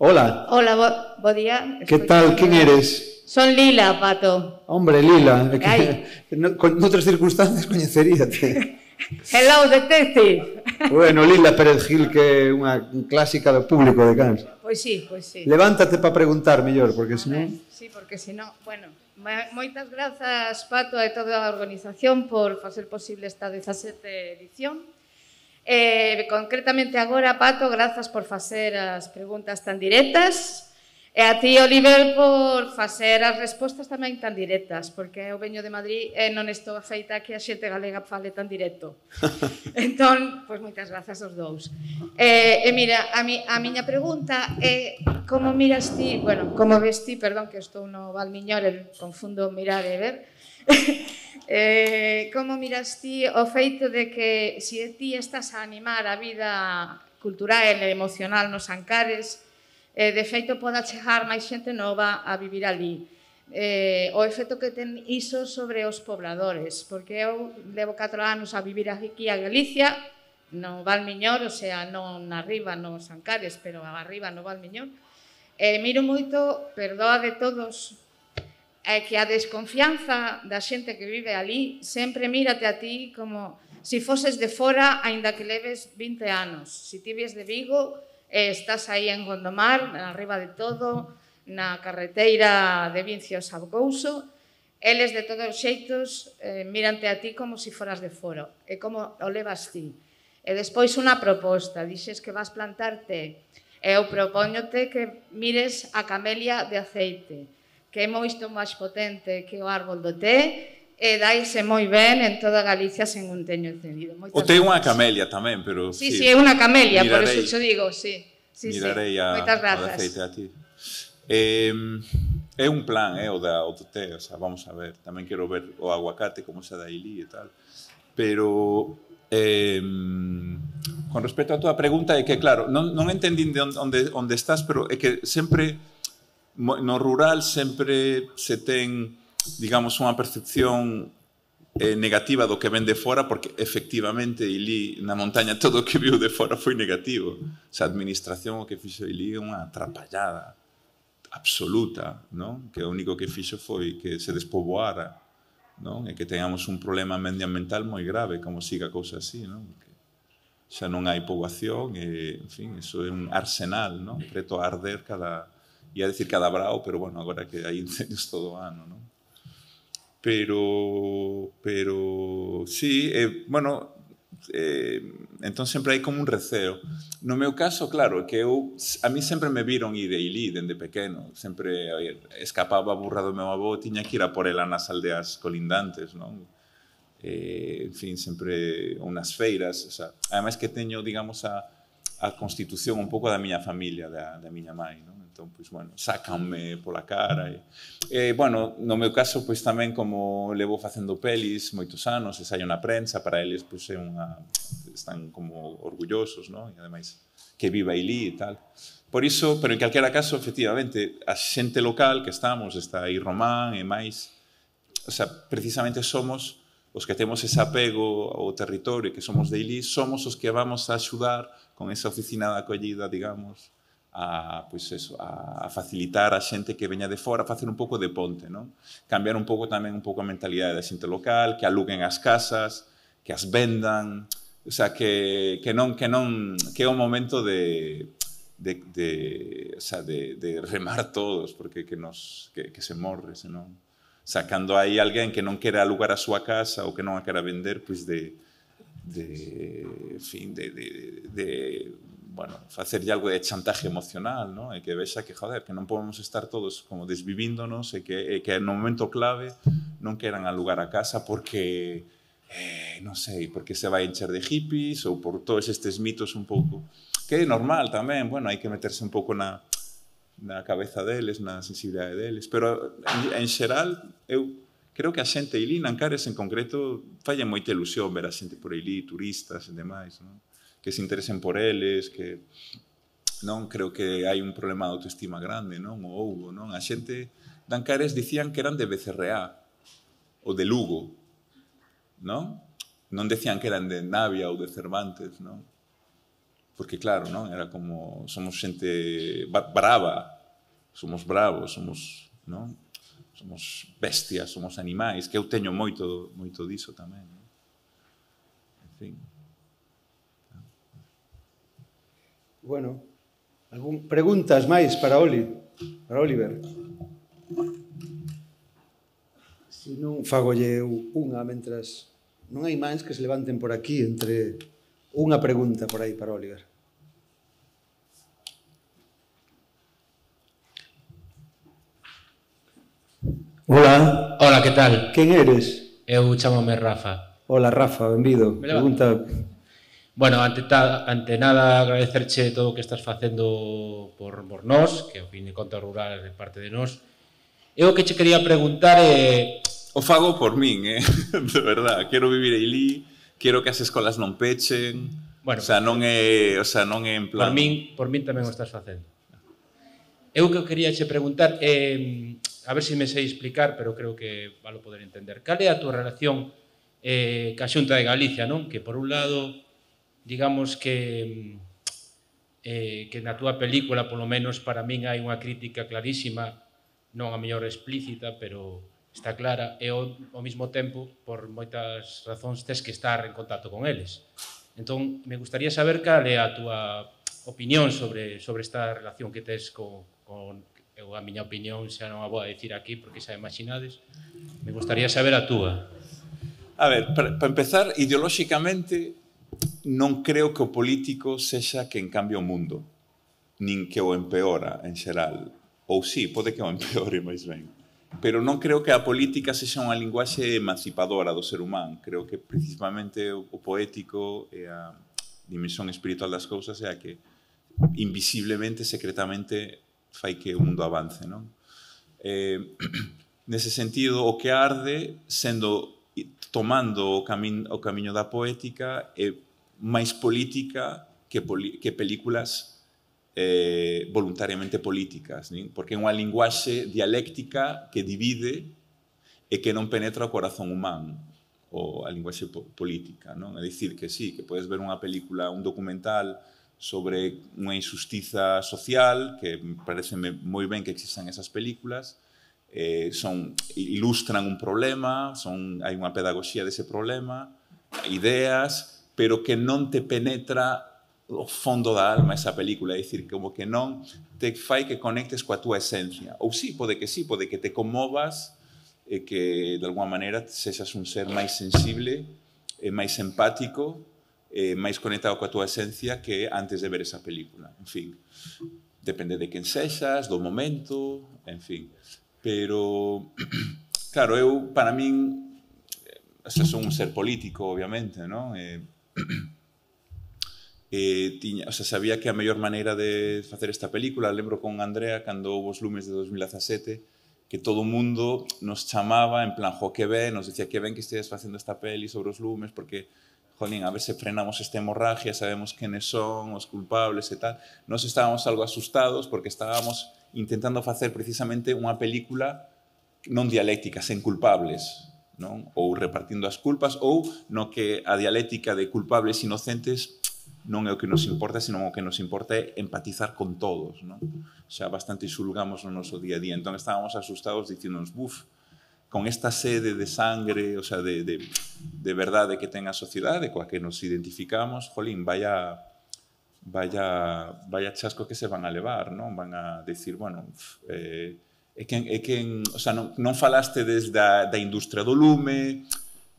Hola. Hola, bo, bo día. Que tal, quen eres? Son Lila, Pato. Hombre, Lila. Que, no, con outras circunstancias coñeceríate. Hello, detective. Bueno, Lila Pérez Gil, que é unha clásica do público de Cans. Pois sí, pois sí. Levántate para preguntar mellor, porque senón... Sí, porque senón, bueno... Moitas grazas, Pato, e toda a organización por facer posible esta dezasete edición. Eh, concretamente agora, Pato, grazas por facer as preguntas tan directas e a ti, Oliver, por facer as respostas tamén tan directas, porque eu veño de Madrid e non estou feita que a xente galega fale tan directo. Entón, pois moitas grazas aos dous. E, e mira, a, mi, a miña pregunta é como miras ti, bueno, como ves ti, perdón, que estou no Valmiñor, e confundo mirar e ver, eh, como miras ti o feito de que se ti estás a animar a vida cultural e emocional nos Ancares, Eh, de feito, poda chegar máis xente nova a vivir ali. Eh, o efecto que ten iso sobre os pobladores, porque eu levo catro anos a vivir aquí a Galicia, no Valmiñor, o sea, non arriba nos Ancares, pero arriba no Valmiñor, e miro moito, perdoa de todos, é que a desconfianza da xente que vive ali sempre mírate a ti como se foses de fora, aínda que leves vinte anos. Se ti vies de Vigo, eh, estás aí en Gondomar, arriba de todo, na carreteira de Vincios a Couso, eles de todos os xeitos eh, mírante a ti como se foras de fora. E como o levas ti. E despois unha proposta, dixes que vas plantarte. Eu propóñote que mires a camelia de aceite, que é moito máis potente que o árbol do té, e daise moi ben en toda Galicia sen un teño encendido. O té é unha camelia tamén, pero... Sí, sí, é unha camelia, por eso xo digo, sí. Mirarei a aceite a ti. É un plan, é o do té, o sea, vamos a ver. Tamén quero ver o aguacate, como se dá ilí e tal. Pero... Con respecto a tua pregunta, é que, claro, non entendín de onde estás, pero é que sempre, no rural, sempre se ten... digamos, unha percepción eh, negativa do que ven de fora, porque efectivamente Ilí, na montaña, todo o que viu de fora foi negativo. Esa administración o que fixo Ilí é unha atrapallada absoluta, non? Que o único que fixo foi que se despoboara, non? E que teñamos un problema medioambiental moi grave, como siga a cousa así, non? Que xa non hai poboación, e, en fin, iso é un arsenal, non? Preto a arder cada... ia decir cada brao, pero, bueno, agora que hai incendios todo o ano, non? Pero, pero, sí, eh, bueno, eh, entón sempre hai como un receo. No meu caso, claro, que eu, a mí sempre me viron ir a Ilí dende pequeno, sempre escapaba a burra do meu avó, tiña que ir a por ela nas aldeas colindantes, non? Eh, en fin, sempre unas feiras, o sea, ademais que teño, digamos, a, a constitución un pouco da miña familia, da, da miña mãe, non? Entón, pois, bueno, sácanme pola cara. E, e, bueno, no meu caso, pois, tamén como levo facendo pelis moitos anos, e saio na prensa, para eles, pois, é unha... están como orgullosos, non? E, ademais, que viva Ilí e tal. Por iso, pero en calquera caso, efectivamente, a xente local que estamos, está aí Román e máis, o sea, precisamente somos os que temos ese apego ao territorio, que somos de Ilí, somos os que vamos a axudar con esa oficina de acollida, digamos, a, pois eso, a, a facilitar a xente que veña de fora, a facer un pouco de ponte, non? Cambiar un pouco tamén un pouco a mentalidade da xente local, que aluguen as casas, que as vendan, o sea, que, que non que non que é o momento de de de, o sea, de, de remar todos, porque que nos que, que se morre, senón. O sea, cando hai alguén que non quere alugar a súa casa ou que non a quera vender, pois de de, en fin, de, de, de bueno, facerlle algo de chantaje emocional, ¿no? E que vexa que, joder, que non podemos estar todos como desvivíndonos e que, e que no momento clave non queran alugar a casa porque, eh, non sei, porque se vai encher de hippies ou por todos estes mitos un pouco, que é normal tamén, bueno, hai que meterse un pouco na, na cabeza deles, na sensibilidade deles, pero en, en xeral, eu creo que a xente Ilí, Nancares en concreto, falla moita ilusión ver a xente por Ilí, turistas e demais, non? Que se interesen por eles, que non creo que hai un problema de autoestima grande, non? O houbo, non? A xente de Ancares dicían que eran de Becerreá ou de Lugo, non? Non decían que eran de Navia ou de Cervantes, non? Porque claro, non? Era como somos xente brava, somos bravos, somos, non? Somos bestias, somos animais, que eu teño moito moito diso tamén, non? En fin. Bueno, algún preguntas máis para Oli, para Oliver? Se non, fagolle unha mentras... Non hai máis que se levanten por aquí entre unha pregunta por aí para Oliver. Hola. Hola, que tal? Quen eres? Eu chamome Rafa. Hola, Rafa, benvido. Pregunta... Bueno, ante, ta, ante nada agradecerche todo o que estás facendo por, por nós, que ao fin de contas rural é parte de nós. Eu que che quería preguntar é... O fago por min, eh? De verdad, quero vivir aí, quero que as escolas non pechen, bueno, o sea, non é, o sea, non é en plan... Por min, por min tamén o estás facendo. Eu que quería che preguntar é... A ver se me sei explicar, pero creo que valo poder entender. Cal é a túa relación eh, ca Xunta de Galicia, non? Que por un lado... digamos que eh, que na túa película, polo menos para min, hai unha crítica clarísima non a mellor explícita, pero está clara, e ao, ao mesmo tempo, por moitas razóns, tes que estar en contacto con eles. Entón, me gustaría saber cal é a túa opinión sobre, sobre esta relación que tes con, con eu, a miña opinión xa non a vou a dicir aquí porque xa imaginades. Me gustaría saber a túa. A ver, para, para empezar, ideolóxicamente non creo que o político sexa quen cambia o mundo, nin que o empeora en xeral. Ou sí, pode que o empeore máis ben. Pero non creo que a política sexa unha linguaxe emancipadora do ser humano. Creo que principalmente o poético e a dimensión espiritual das cousas é a que invisiblemente, secretamente, fai que o mundo avance, non? Eh, nese sentido, o que arde, sendo tomando o, cami o camiño da poética, é máis política que, poli que películas eh, voluntariamente políticas, nin? Porque é unha linguaxe dialéctica que divide e que non penetra o corazón humano, ou a linguaxe po política, non? É dicir, que sí, que podes ver unha película, un documental sobre unha injustiza social, que me parece moi ben que existan esas películas, eh, son, ilustran un problema, son, hai unha pedagogía dese problema, ideas, pero que non te penetra o fondo da alma esa película, é dicir, como que non te fai que conectes coa túa esencia. Ou sí, pode que sí, pode que te conmovas e que, de alguma maneira, sexas un ser máis sensible, e máis empático, e máis conectado coa túa esencia que antes de ver esa película. En fin, depende de quen sexas, do momento, en fin. Pero, claro, eu, para min, xa son un ser político, obviamente, non? E, e tiña, o sea, sabía que a mellor maneira de facer esta película, lembro con Andrea, cando houve os lumes de dos mil dezasete, que todo o mundo nos chamaba, en plan, jo, que ben, nos decía que ben que estedes facendo esta peli sobre os lumes, porque, jolín, a ver se frenamos esta hemorragia, sabemos quenes son os culpables e tal. Nos estábamos algo asustados porque estábamos intentando facer precisamente unha película non dialéctica, sen culpables, non? Ou repartindo as culpas, ou no que a dialéctica de culpables inocentes non é o que nos importa, sino o que nos importa é empatizar con todos, non? Xa bastante xulgamos no noso día a día. Entón estábamos asustados diciéndonos, buf, con esta sede de sangre, o sea, de, de, de verdade que ten a sociedade, coa que nos identificamos, jolín, vaya, vaya, vaya chasco que se van a levar, non? Van a decir, bueno, eh, é que, é que o sea, non, non falaste desde a, da industria do lume,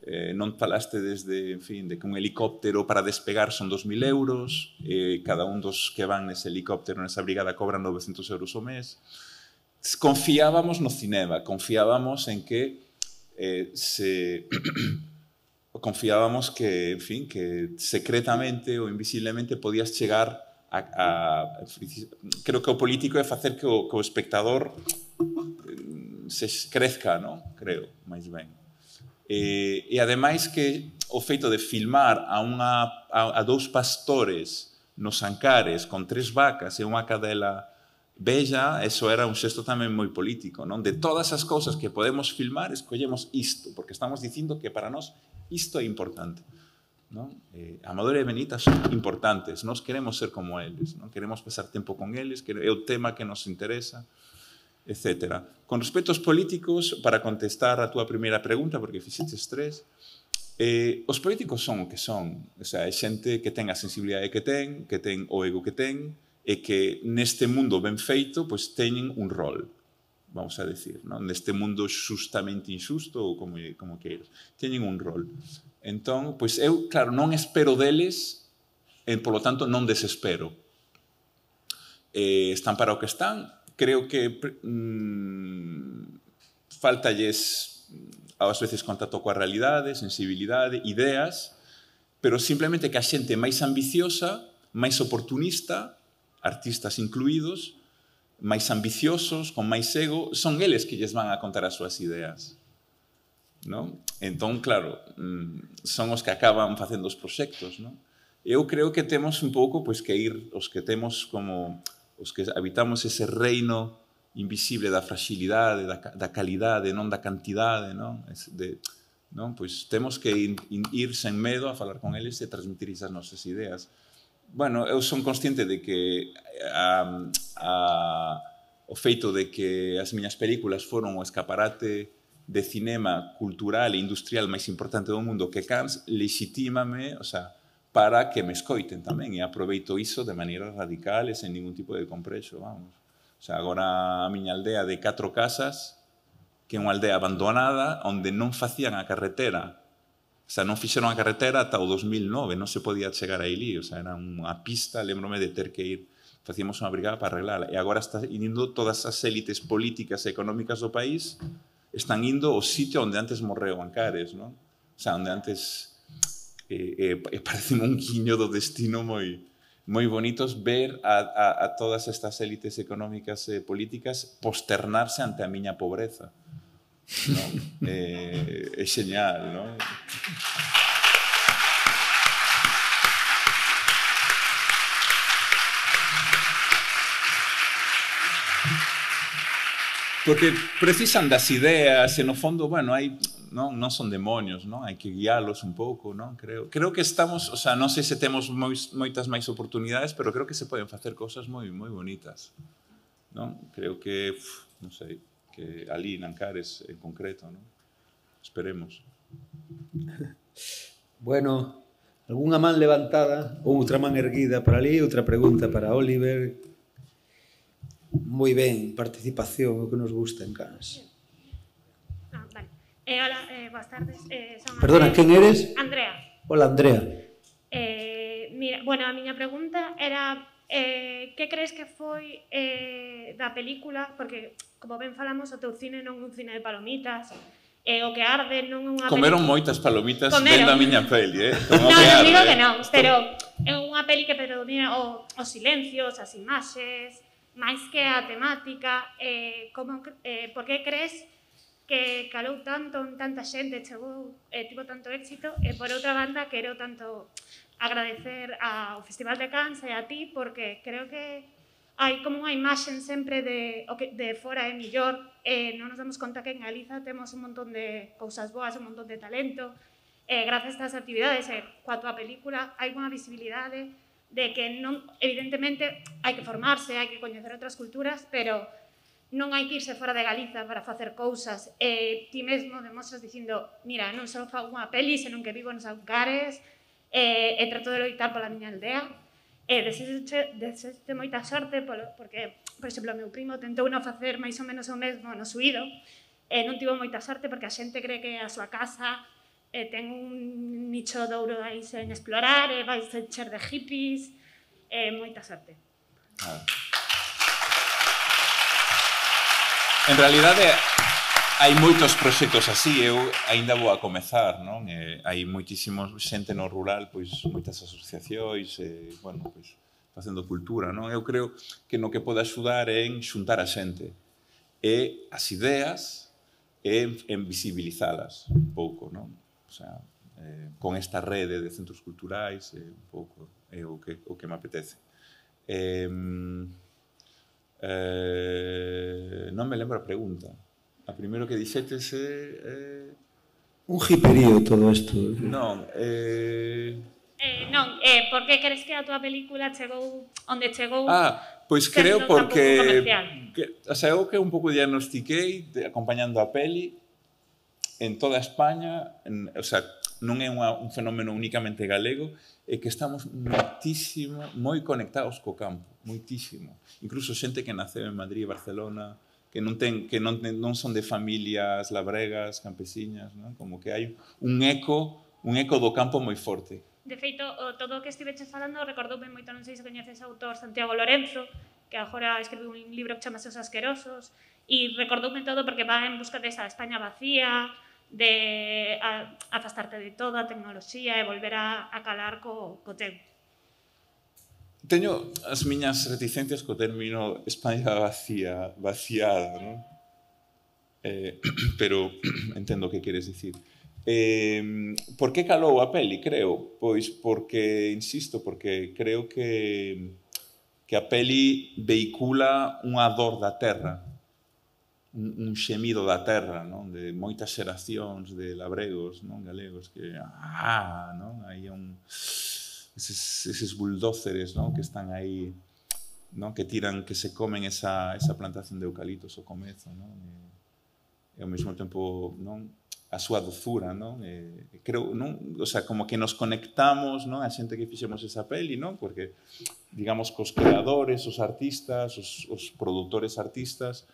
eh, non falaste desde, en fin, de que un helicóptero para despegar son dos mil euros, eh, cada un dos que van nese helicóptero, nesa brigada, cobran novecentos euros ao mes. Confiábamos no cinema, confiábamos en que eh, se... confiábamos que, en fin, que secretamente ou invisiblemente podías chegar a, a, a... Creo que o político é facer que o, que o espectador se crezca, non? Creo, máis ben. E, e ademais que o feito de filmar a, unha, a, a dous pastores nos Ancares con tres vacas e unha cadela bella, eso era un xesto tamén moi político, non? De todas as cousas que podemos filmar, escollemos isto, porque estamos dicindo que para nós isto é importante, non? Eh, Amador e Benita son importantes, nós queremos ser como eles, non? Queremos pasar tempo con eles, que é o tema que nos interesa, etcétera. Con respecto aos políticos, para contestar a túa primeira pregunta, porque fixeches tres, eh, os políticos son o que son, o sea, é xente que ten a sensibilidade que ten, que ten o ego que ten, e que neste mundo ben feito, pois teñen un rol, vamos a decir, non? Neste mundo xustamente injusto, ou como, como queiras, teñen un rol. Entón, pois eu, claro, non espero deles, e, polo tanto, non desespero. Eh, están para o que están, creo que mmm, faltalles, ás veces, contacto coa realidade, sensibilidade, ideas, pero simplemente que a xente máis ambiciosa, máis oportunista, artistas incluídos, máis ambiciosos, con máis ego, son eles que lles van a contar as súas ideas, non? Entón, claro, son os que acaban facendo os proxectos, non? Eu creo que temos un pouco, pois, que ir, os que temos como, os que habitamos ese reino invisible da fragilidade, da, da calidade, non da cantidade, non? De, non? Pois temos que ir, ir sen medo a falar con eles e transmitir esas nosas ideas. Bueno, eu son consciente de que a, a, o feito de que as miñas películas foron o escaparate de cinema cultural e industrial máis importante do mundo que Cannes, legitímame, o sea, para que me escoiten tamén, e aproveito iso de maneira radical e sen ningún tipo de complexo, vamos. O sea, agora a miña aldea de catro casas, que é unha aldea abandonada, onde non facían a carretera, o sea, non fixeron a carretera ata o dos mil nove, non se podía chegar a Ilí, o sea, era unha pista, lembrome de ter que ir, facíamos unha brigada para arreglarla, e agora está indo todas as élites políticas e económicas do país, están indo ao sitio onde antes morreu Ancares, non? O sea, onde antes eh, eh, parece un guiño do destino moi moi bonitos ver a, a, a todas estas élites económicas e políticas posternarse ante a miña pobreza. ¿No? Eh, é genial, non? Porque precisan das ideas e no fondo, bueno, hai, non, non son demonios, non? Hai que guiálos un pouco, non? Creo, creo que estamos, o sea, non sei se temos mois, moitas máis oportunidades, pero creo que se poden facer cousas moi moi bonitas, non? Creo que, uf, non sei, que ali en Ancares en concreto, non? Esperemos. Bueno, algunha man levantada, outra man erguida para ali, outra pregunta para Oliver. Moi ben, participación, o que nos gusta en Cannes. Ah, vale. Eh, hola, eh, boas tardes. Eh, son Perdona, Andrea. quen eres? Andrea. Hola, Andrea. Eh, mira, bueno, a miña pregunta era eh, que crees que foi eh, da película, porque, como ben falamos, o teu cine non é un cine de palomitas, eh, o que arde non é unha Comeron película... moitas palomitas Comeron. vendo a miña peli, eh? Como Non, que non arde, digo eh? que non, pero é unha peli que predomina o, os silencios, as imaxes, máis que a temática, eh, como, eh, por que crees que calou tanto en tanta xente, chegou, eh, tivo tanto éxito, e por outra banda quero tanto agradecer ao Festival de Cannes e a ti, porque creo que hai como unha imaxen sempre de, o que, de fora é millor, e non nos damos conta que en Galiza temos un montón de cousas boas, un montón de talento, e gracias a estas actividades e coa tua película hai unha visibilidade de que non, evidentemente hai que formarse, hai que coñecer outras culturas, pero non hai que irse fora de Galiza para facer cousas. E ti mesmo demostras dicindo, mira, non só fago unha peli, senón que vivo nos Ancares, e, e trato de loitar pola miña aldea. E desexo moita sorte, polo, porque, por exemplo, o meu primo tentou non facer máis ou menos o mesmo no Suído, e non tivo moita sorte porque a xente cree que a súa casa eh, ten un nicho de ouro aí sen explorar, e vais a encher de hippies, e eh, moita sorte. Ah. En realidade, hai moitos proxectos así, eu aínda vou a comezar, non? E hai moitísimos xente no rural, pois moitas asociacións, e, bueno, pois, facendo cultura, non? Eu creo que no que pode axudar é en xuntar a xente, e as ideas, e en visibilizalas un pouco, non? O sea, eh, con esta rede de centros culturais, eh, un pouco, é o que, o que me apetece. Eh, eh, non me lembro a pregunta. A primeiro que dixetes é... Eh... Un hiperío todo isto. Non, eh... Eh, non, eh, por que crees que a tua película chegou onde chegou? Ah, pois creo porque... Que, o sea, eu que un pouco diagnostiquei de, acompañando a peli en toda España, en, o sea, non é unha, un fenómeno únicamente galego, é que estamos moitísimo, moi conectados co campo, moitísimo. Incluso xente que naceu en Madrid e Barcelona, que non ten que non, non son de familias labregas, campesiñas, non? Como que hai un eco, un eco do campo moi forte. De feito, o, todo o que estiveches falando recordoume moito, non sei se coñeces o autor Santiago Lorenzo, que agora escribiu un libro que chamase Os Asquerosos, e recordoume todo porque va en busca desa España vacía, de a, afastarte de toda a tecnoloxía e volver a, a calar co, co teu. Teño as miñas reticencias co término España vacía, vaciada, non? Eh, pero entendo o que queres dicir. Eh, por que calou a peli, creo? Pois porque, insisto, porque creo que, que a peli vehicula unha dor da terra, un, un xemido da terra, non? De moitas xeracións de labregos, non? Galegos, que, ah, non? Aí un... Eses, eses buldóceres, non? Que están aí non? Que tiran, que se comen esa, esa plantación de eucaliptos ao comezo, non? E, e ao mesmo tempo, non? A súa dozura, non? E, creo, non? O sea, como que nos conectamos, non? A xente que fixemos esa peli, non? Porque, digamos, cos creadores, os artistas, os, os produtores artistas,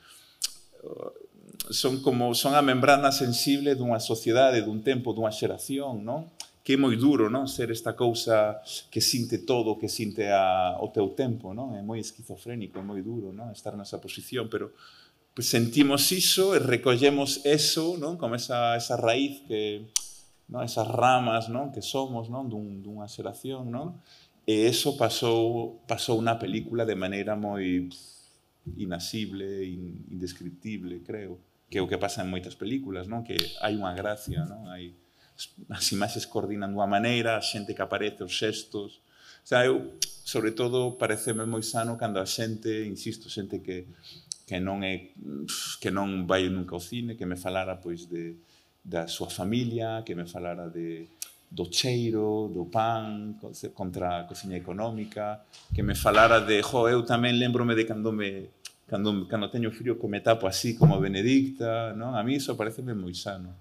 son como, son a membrana sensible dunha sociedade, dun tempo, dunha xeración, non? Que é moi duro, non? Ser esta cousa que sinte todo, que sinte a, o teu tempo, non? É moi esquizofrénico, é moi duro, non? Estar nesa posición, pero pues, sentimos iso e recollemos eso, non? Como esa, esa raíz que, non? Esas ramas, non? Que somos, non? Dun, dunha xeración, non? E eso pasou, pasou unha película de maneira moi inasible, indescriptible, creo, que é o que pasa en moitas películas, non? Que hai unha gracia, non? Hai, as imaxes coordinan dunha maneira, a xente que aparece, os xestos. O sea, eu, sobre todo, pareceme moi sano cando a xente, insisto, xente que, que non é, que non vai nunca ao cine, que me falara, pois, de, da súa familia, que me falara de, do cheiro, do pan, contra a cociña económica, que me falara de, jo, eu tamén lembrome de cando me cando, cando teño frío que me tapo así como Benedicta, non? A mí iso pareceme moi sano.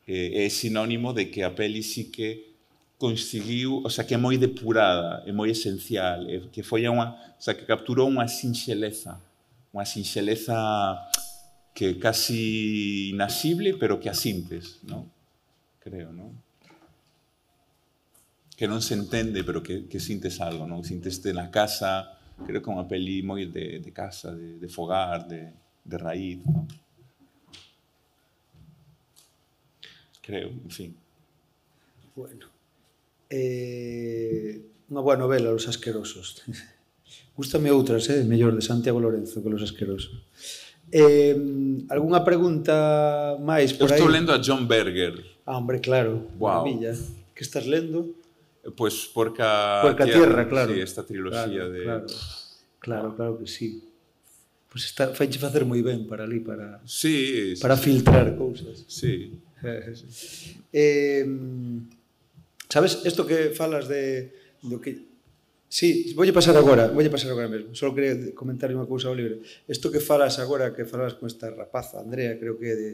É, é sinónimo de que a peli sí que conseguiu, o sea, que é moi depurada, é moi esencial, é, que foi unha, o sea, que capturou unha sinxeleza, unha sinxeleza que é casi inasible, pero que a sintes, non? Creo, non? Que non se entende, pero que, que sintes algo, non? Sinteste na casa, creo que é unha peli moi de, de casa, de, de fogar, de, de raíz, non? Creo, en fin. Bueno. Eh, unha boa novela, Los Asquerosos. Gústame outras, eh? Mellor, de Santiago Lorenzo que Los Asquerosos. Eh, algunha pregunta máis por aí? Eu estou lendo a John Berger. Ah, hombre, claro. Wow. Maravilla. Que estás lendo? Pues Porca, Porca Tierra, claro. Sí, esta trilogía claro, de... Claro, claro, claro que sí. Pues está, faiche facer moi ben para ali, para, sí, para sí, filtrar cousas. Sí. eh, sabes, isto que falas de... Do que, sí, voulle pasar agora, voulle pasar agora mesmo. Só quería comentar unha cousa ao libre. Isto que falas agora, que falas con esta rapaza, Andrea, creo que é de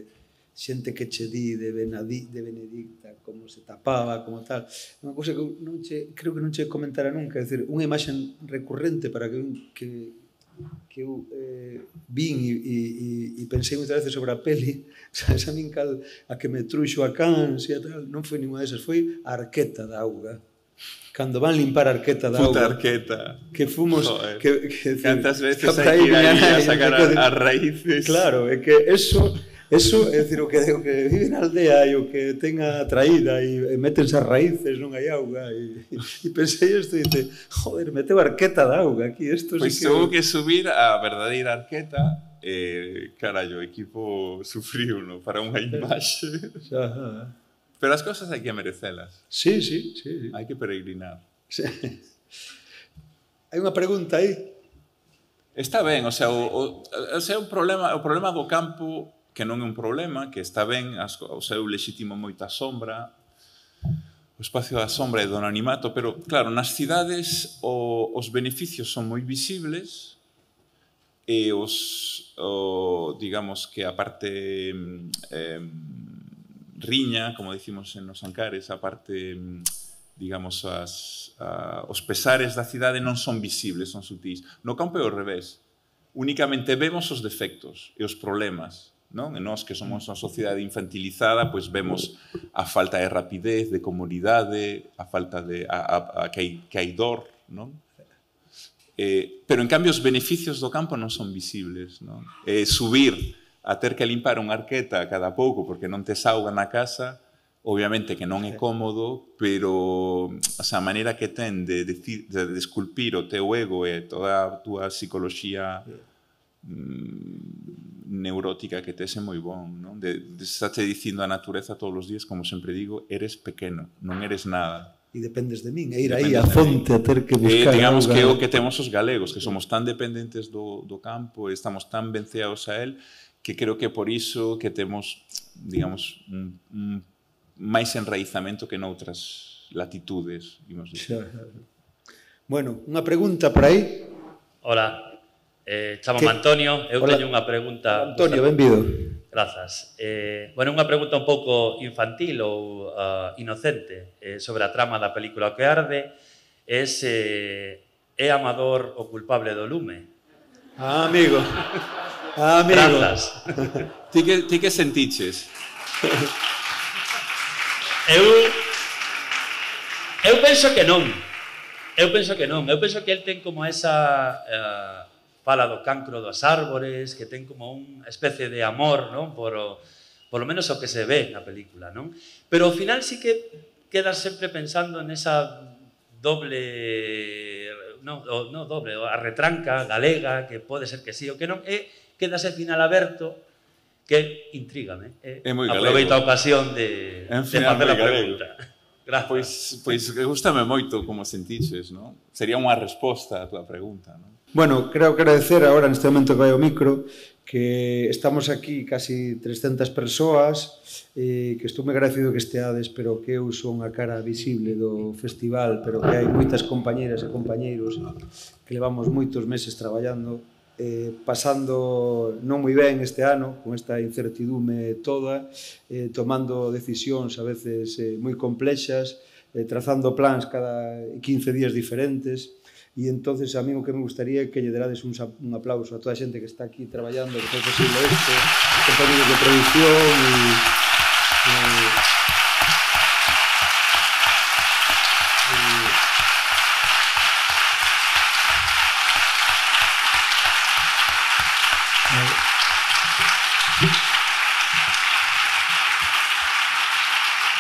xente que che di de, Benadi, de Benedicta, como se tapaba, como tal. Unha cousa que non che, creo que non che comentara nunca, é dicir, unha imaxe recurrente para que, que, que eu eh, vin e, e, e pensei moitas veces sobre a peli, sabes, a min cal, a que me truxo a Cans e a tal, non foi ninguna desas, foi a Arqueta da auga. Cando van limpar a Arqueta da Puta auga. Arqueta. Que fomos... Que, que, Cantas veces hai que ir aí a sacar as raíces. Claro, é que eso... Eso, é dicir, o que, o que vive na aldea e o que tenga traída e, e metense as raíces, non hai auga e, e pensei isto e dice, joder, meteu Arqueta da auga aquí, isto pois sí que... Pois que subir a verdadeira Arqueta e, eh, carallo, o equipo sufriu, no, para unha imaxe. Xa, pero as cosas hai que merecelas. Sí, sí, sí. Hai que peregrinar. Sí. Hai unha pregunta aí? Está ben, o sea, o, o, o, sea, o, problema, o problema do campo que non é un problema, que está ben, o seu lexítimo moita sombra, o espacio da sombra e do anonimato, pero, claro, nas cidades o, os beneficios son moi visibles e os, o, digamos que a parte eh, riña, como dicimos en nos Ancares, a parte, digamos, as, a, os pesares da cidade non son visibles, son sutís. No campo é ao revés. Únicamente vemos os defectos e os problemas, non? E nós que somos unha sociedade infantilizada, pois vemos a falta de rapidez, de comodidade, a falta de a, a, a que, hai, que hai dor, non? Eh, pero en cambio os beneficios do campo non son visibles, non? Eh, subir a ter que limpar unha arqueta cada pouco porque non tes auga na casa, obviamente que non é cómodo, pero o sea, a maneira que ten de, de, de esculpir o teu ego e toda a túa psicoloxía neurótica que tes é moi bon, non? De, de estate dicindo a natureza todos os días, como sempre digo, eres pequeno, non eres nada. E dependes de min, e ir aí a fonte a ter que buscar... E digamos que é o que temos os galegos, que somos tan dependentes do, do campo, e estamos tan venceados a él, que creo que por iso que temos, digamos, un, un máis enraizamento que noutras latitudes, digamos. Xa, xa. Bueno, unha pregunta por aí? Hola, eh, chamome Antonio, eu Hola. teño unha pregunta... Antonio, benvido. Grazas. Eh, bueno, unha pregunta un pouco infantil ou uh, inocente eh, sobre a trama da película O que arde é se é Amador o culpable do lume. Ah, amigo. Ah, amigo. Grazas. Ti que, ti que sentiches? Eu... Eu penso que non. Eu penso que non. Eu penso que el ten como esa... Uh, fala do cancro dos árbores, que ten como unha especie de amor, non? Por, o, por lo menos o que se ve na película, non? Pero ao final sí que quedas sempre pensando nesa doble... Non, o, no doble, a retranca galega, que pode ser que sí ou que non, e quedas al final aberto, que intrígame. É moi galego. Aproveito a ocasión de, En de fin, facer a moi galego. pregunta. Gracias. Pois, pois gustame moito como sentiches, non? Sería unha resposta a túa pregunta, non? Bueno, creo que agradecer agora neste momento que vai o micro que estamos aquí casi trescentas persoas eh, que estou moi agradecido que esteades, pero que eu son a cara visible do festival, pero que hai moitas compañeras e compañeiros que levamos moitos meses traballando eh, pasando non moi ben este ano con esta incertidume toda, eh, tomando decisións a veces eh, moi complexas, eh, trazando plans cada quince días diferentes. E entonces a mí o que me gustaría é que lle derades un, un aplauso a toda a xente que está aquí traballando, que foi posible isto, compañeros de producción e... e,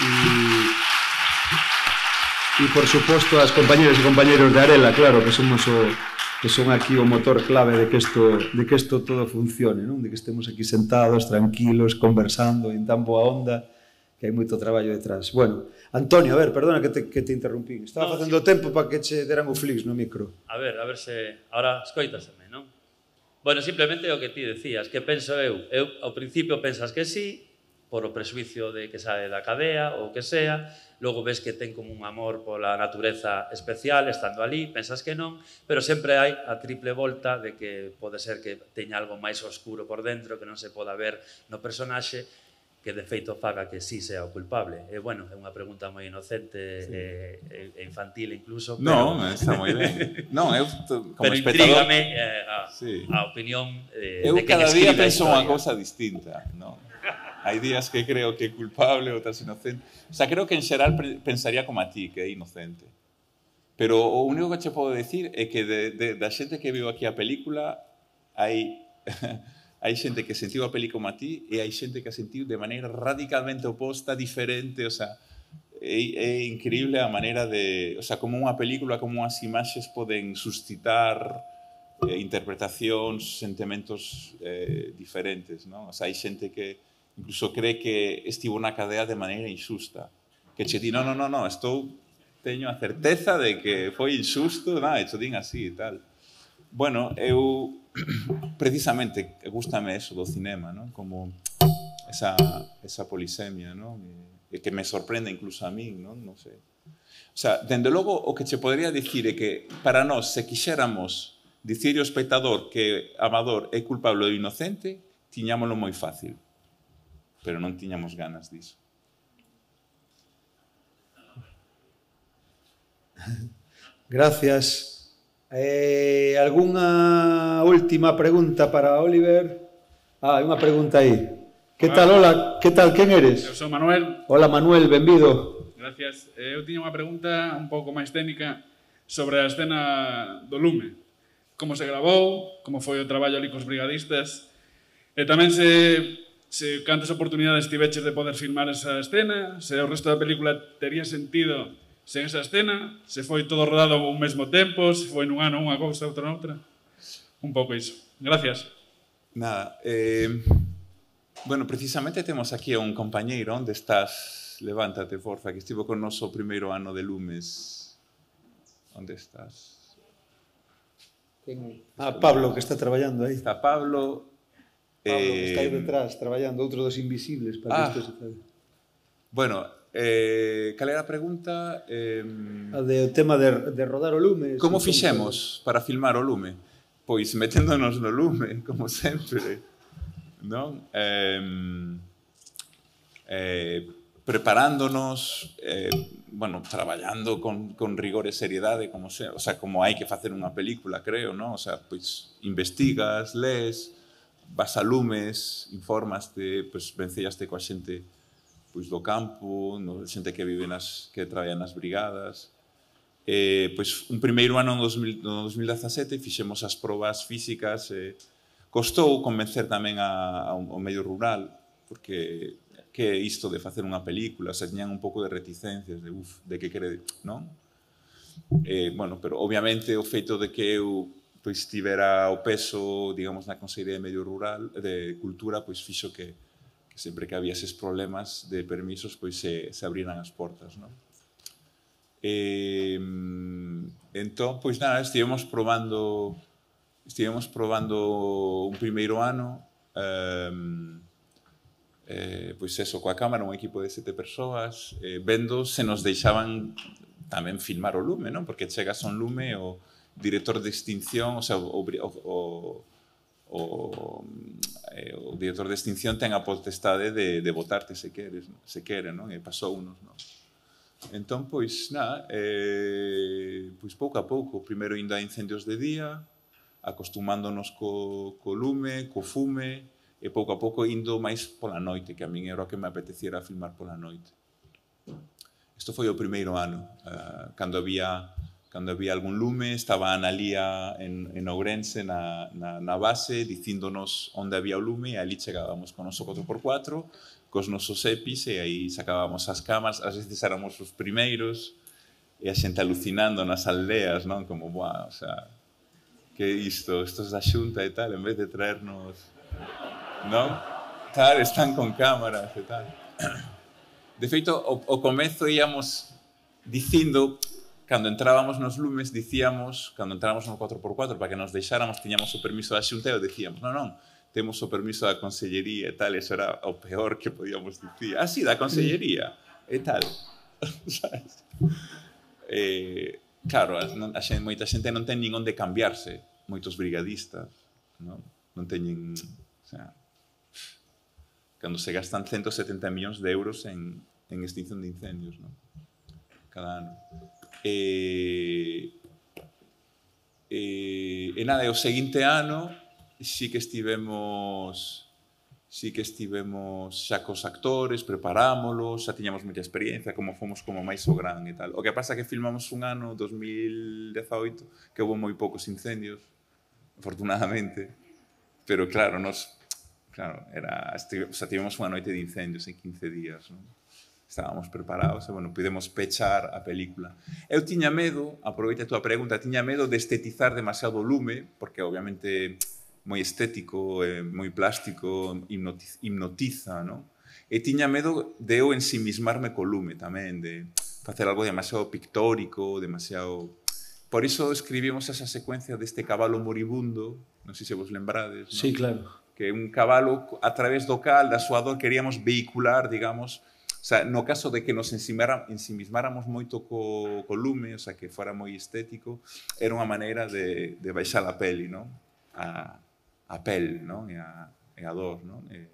e E, por suposto, as compañeras e compañeros de Arela, claro, que somos o, que son aquí o motor clave de que isto, de que isto todo funcione, non? De que estemos aquí sentados, tranquilos, conversando en tan boa onda, que hai moito traballo detrás. Bueno, Antonio, a ver, perdona que te, que te interrumpí. Estaba no, facendo sí. tempo para que che deran o flix no micro. A ver, a ver se... Ahora escoitaseme, non? Bueno, simplemente o que ti decías, que penso eu. Eu, ao principio, pensas que sí, por o presuicio de que sae da cadea ou que sea, logo ves que ten como un amor pola natureza especial estando ali, pensas que non, pero sempre hai a triple volta de que pode ser que teña algo máis oscuro por dentro que non se poda ver no personaxe, que de feito faga que sí sea o culpable. E, bueno, é unha pregunta moi inocente sí. e, e infantil incluso, pero... Non, está moi ben. Non, eu como pero espectador... intrígame eh, a, sí. a opinión eh, eu de quen cada día escribe a penso unha historia. cousa distinta, non? Hai días que creo que é culpable, outras inocente. O sea, creo que en xeral pensaría como a ti, que é inocente. Pero o único que che podo decir é que de, de, da xente que viu aquí a película hai, hai xente que sentiu a peli como a ti e hai xente que a sentiu de maneira radicalmente oposta, diferente, o sea, é, é increíble a maneira de... O sea, como unha película, como unhas imaxes poden suscitar eh, interpretacións, sentimentos eh, diferentes, non? O sea, hai xente que incluso cree que estivo na cadea de maneira injusta. Que che di, no, no, no, no, estou, teño a certeza de que foi injusto, nada, hecho din así e tal. Bueno, eu, precisamente, gústame eso do cinema, non? Como esa, esa polisemia, non? E que me sorprende incluso a min, non? Non sei. O sea, dende logo, o que che podría dicir é que para nós, se quixéramos dicir ao espectador que Amador é culpable ou inocente, tiñámoslo moi fácil. Pero non tiñamos ganas diso. Gracias. Eh, algunha última pregunta para Oliver? Ah, hai unha pregunta aí. Que tal, hola, que tal, quen eres? Eu sou Manuel. Hola, Manuel, benvido. Gracias. Eu tiña unha pregunta un pouco máis técnica sobre a escena do lume. Como se gravou, como foi o traballo ali cos brigadistas, e tamén se... se cantas oportunidades tiveches de poder filmar esa escena, se o resto da película tería sentido sen esa escena, se foi todo rodado ao mesmo tempo, se foi nun ano unha cousa, outra noutra. Un pouco iso. Gracias. Nada. Eh, bueno, precisamente temos aquí a un compañeiro. Onde estás? Levántate, forza, que estivo con noso primeiro ano de Lumes. Onde estás? Ah, Pablo, que está traballando aí. Está Pablo... Pablo, que está aí detrás, traballando, outro dos invisibles para ah, que isto se fade. Bueno, eh, cal era a pregunta? Eh, a de, o tema de, de rodar o lume. Como fixemos para filmar o lume? pois meténdonos no lume, como sempre, non? Eh, eh, preparándonos, eh, bueno, traballando con, con rigor e seriedade, como se, o sea, como hai que facer unha película, creo, non? O sea, pois investigas, lees, vas a lumes, informaste, pois vencellaste coa xente pois do campo, no, xente que vive nas, que traballa nas brigadas. Eh, pois un primeiro ano no dos mil dezasete fixemos as probas físicas, eh, costou convencer tamén a, a, ao medio rural, porque que é isto de facer unha película, se tiñan un pouco de reticencias, de uf, de que quere, non? Eh, bueno, pero obviamente o feito de que eu pois tivera o peso, digamos, na Consellería de Medio Rural, de Cultura, pois fixo que, que sempre que había eses problemas de permisos, pois se, se abriran as portas, non? Eh, entón, pois nada, estivemos probando estivemos probando un primeiro ano, eh, Eh, pois eso, coa cámara, un equipo de sete persoas, eh, vendo se nos deixaban tamén filmar o lume, non? Porque chegas a un lume, o director de extinción, o sea, o, o, o, o, eh, o director de extinción ten a potestade de, de botarte se queres, se quere, non? E pasou unos, non? Entón, pois, nada, eh, pois pouco a pouco, primeiro indo a incendios de día, acostumándonos co, co lume, co fume, e pouco a pouco indo máis pola noite, que a min era o que me apeteciera filmar pola noite. Isto foi o primeiro ano, uh, cando había cando había algún lume, estaba a Analía en, en Ourense, na, na, na base, dicíndonos onde había o lume, e ali chegábamos con o noso catro por catro, cos nosos epis, e aí sacábamos as camas, ás veces éramos os primeiros, e a xente alucinando nas aldeas, non? Como, buah, o sea, que isto, estos da xunta e tal, en vez de traernos... non? Tal, están con cámaras e tal. De feito, o, o comezo íamos dicindo, cando entrábamos nos lumes, dicíamos, cando entrábamos no catro por catro, para que nos deixáramos, tiñamos o permiso da xunta, e dicíamos, non, non, temos o permiso da Consellería e tal, e eso era o peor que podíamos dicir. Ah, sí, da Consellería e tal. Sabes? Eh, claro, a, a xente, moita xente non ten nin onde cambiarse, moitos brigadistas, non, non teñen... O sea, cando se gastan ciento setenta millóns de euros en, en extinción de incendios, ¿no? Cada ano. E, e, e nada, e o seguinte ano sí que estivemos sí que estivemos xa cos actores, preparámolos, xa tiñamos moita experiencia, como fomos como máis o gran e tal. O que pasa é que filmamos un ano, dos mil dezaoito, que houve moi poucos incendios, afortunadamente, pero claro, nos Claro, era, o sea, tivemos unha noite de incendios en quince días, non? Estábamos preparados e, bueno, pudemos pechar a película. Eu tiña medo, aproveita a túa pregunta, tiña medo de estetizar demasiado o lume, porque, obviamente, moi estético, eh, moi plástico, hipnotiza, hipnotiza, non? E tiña medo de eu ensimismarme co lume tamén, de facer algo demasiado pictórico, demasiado... Por iso escribimos esa secuencia deste cabalo moribundo, non sei se vos lembrades, non? Sí, claro. Que é un cabalo a través do cal, da súa dor, queríamos vehicular, digamos, o sea, no caso de que nos ensimismáramos moito co, co lume, o sea, que fora moi estético, era unha maneira de, de baixar a peli, non? A, a pel, non? E a, e a dor, non? E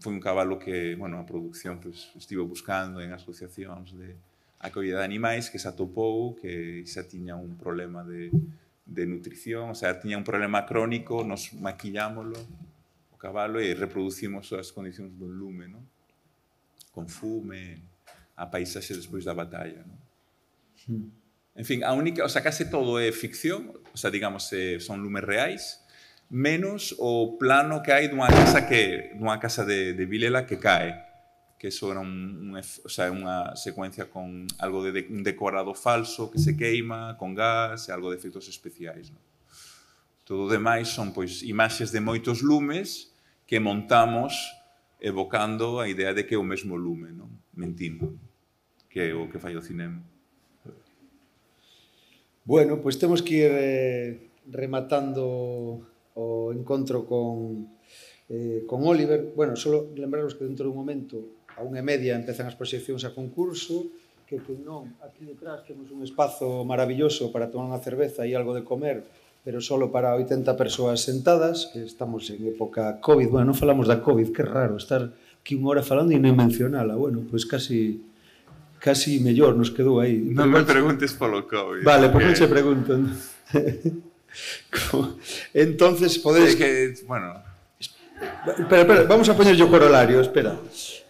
foi un cabalo que, bueno, a produción pues, estivo buscando en asociacións de acollida de animais, que se atopou, que xa tiña un problema de, de nutrición, o sea, tiña un problema crónico, nos maquillámoslo, cabalo, e reproducimos as condicións do lume, non? Con fume, a paisaxe despois da batalla, non? Mm. En fin, a única, o sea, case todo é ficción, o sea, digamos, eh, son lumes reais, menos o plano que hai dunha casa que dunha casa de, de Vilela que cae, que eso era un, un, o sea, unha secuencia con algo de, de un decorado falso que se queima, con gas e algo de efectos especiais, non? Todo o demais son, pois, imaxes de moitos lumes que montamos evocando a idea de que é o mesmo lume, non? Mentindo, que é o que fai o cinema. Bueno, pois temos que ir eh, rematando o encontro con, eh, con Óliver. Bueno, só lembraros que dentro dun momento, a unha e media, empezan as proxeccións a concurso, que que non, aquí detrás temos un espazo maravilloso para tomar unha cerveza e algo de comer, pero solo para oitenta persoas sentadas, que estamos en época COVID. Bueno, non falamos da COVID, que raro estar aquí unha hora falando e non mencionala. Bueno, pois casi casi mellor nos quedou aí. Non me preguntes polo COVID. Vale, pois non se pregunto. Entonces, podes... É que, bueno... Espera, espera, vamos a poñer o corolario, espera.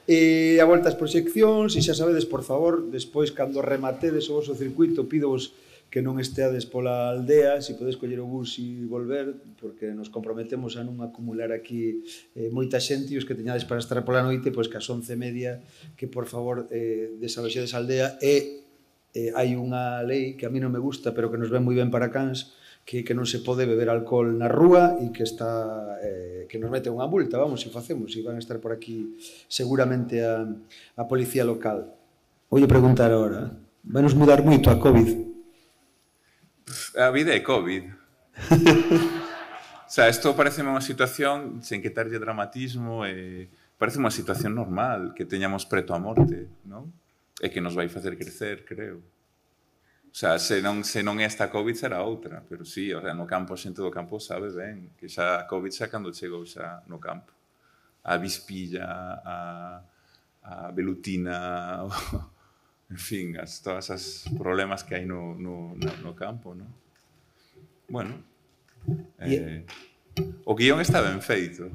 E a volta ás proxeccións, e xa sabedes, por favor, despois, cando rematedes o vosso circuito, pídovos que non esteades pola aldea, se podes coller o bus e volver, porque nos comprometemos a non acumular aquí eh, moita xente, e os que teñades para estar pola noite, pois que ás once e media, que por favor eh, desaloxedes a aldea, e eh, hai unha lei que a mí non me gusta, pero que nos ven moi ben para Cans, que, que non se pode beber alcohol na rúa e que está eh, que nos mete unha multa, vamos, se facemos, e van a estar por aquí seguramente a, a policía local. Voulle preguntar agora, vai nos mudar moito a COVID? A vida é COVID. O sea, isto parece unha situación sen que tarlle dramatismo, e parece unha situación normal, que teñamos preto a morte, non? E que nos vai facer crecer, creo. O sea, se non, se non é esta COVID será outra, pero sí, o sea, no campo, a xente do campo sabe ben que xa a COVID xa cando chegou xa no campo. A vispilla, a, a velutina, en fin, as, todas as problemas que hai no, no, no campo, non? Bueno, eh, o guión está ben feito.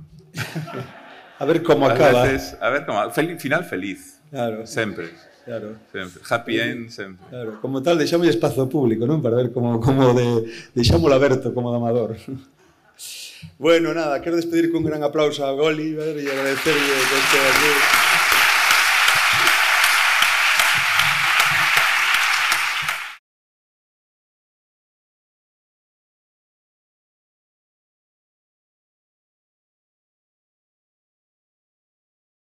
A ver como acaba. Veces, a ver como, fel, final feliz. Claro. Sempre. Claro. Sempre. Happy end, sempre. Claro. Como tal, deixamos espazo público, non? Para ver como, como de, deixámoslo aberto como de Amador. Bueno, nada, quero despedir con un gran aplauso a Goli, e agradecerlle que este aquí.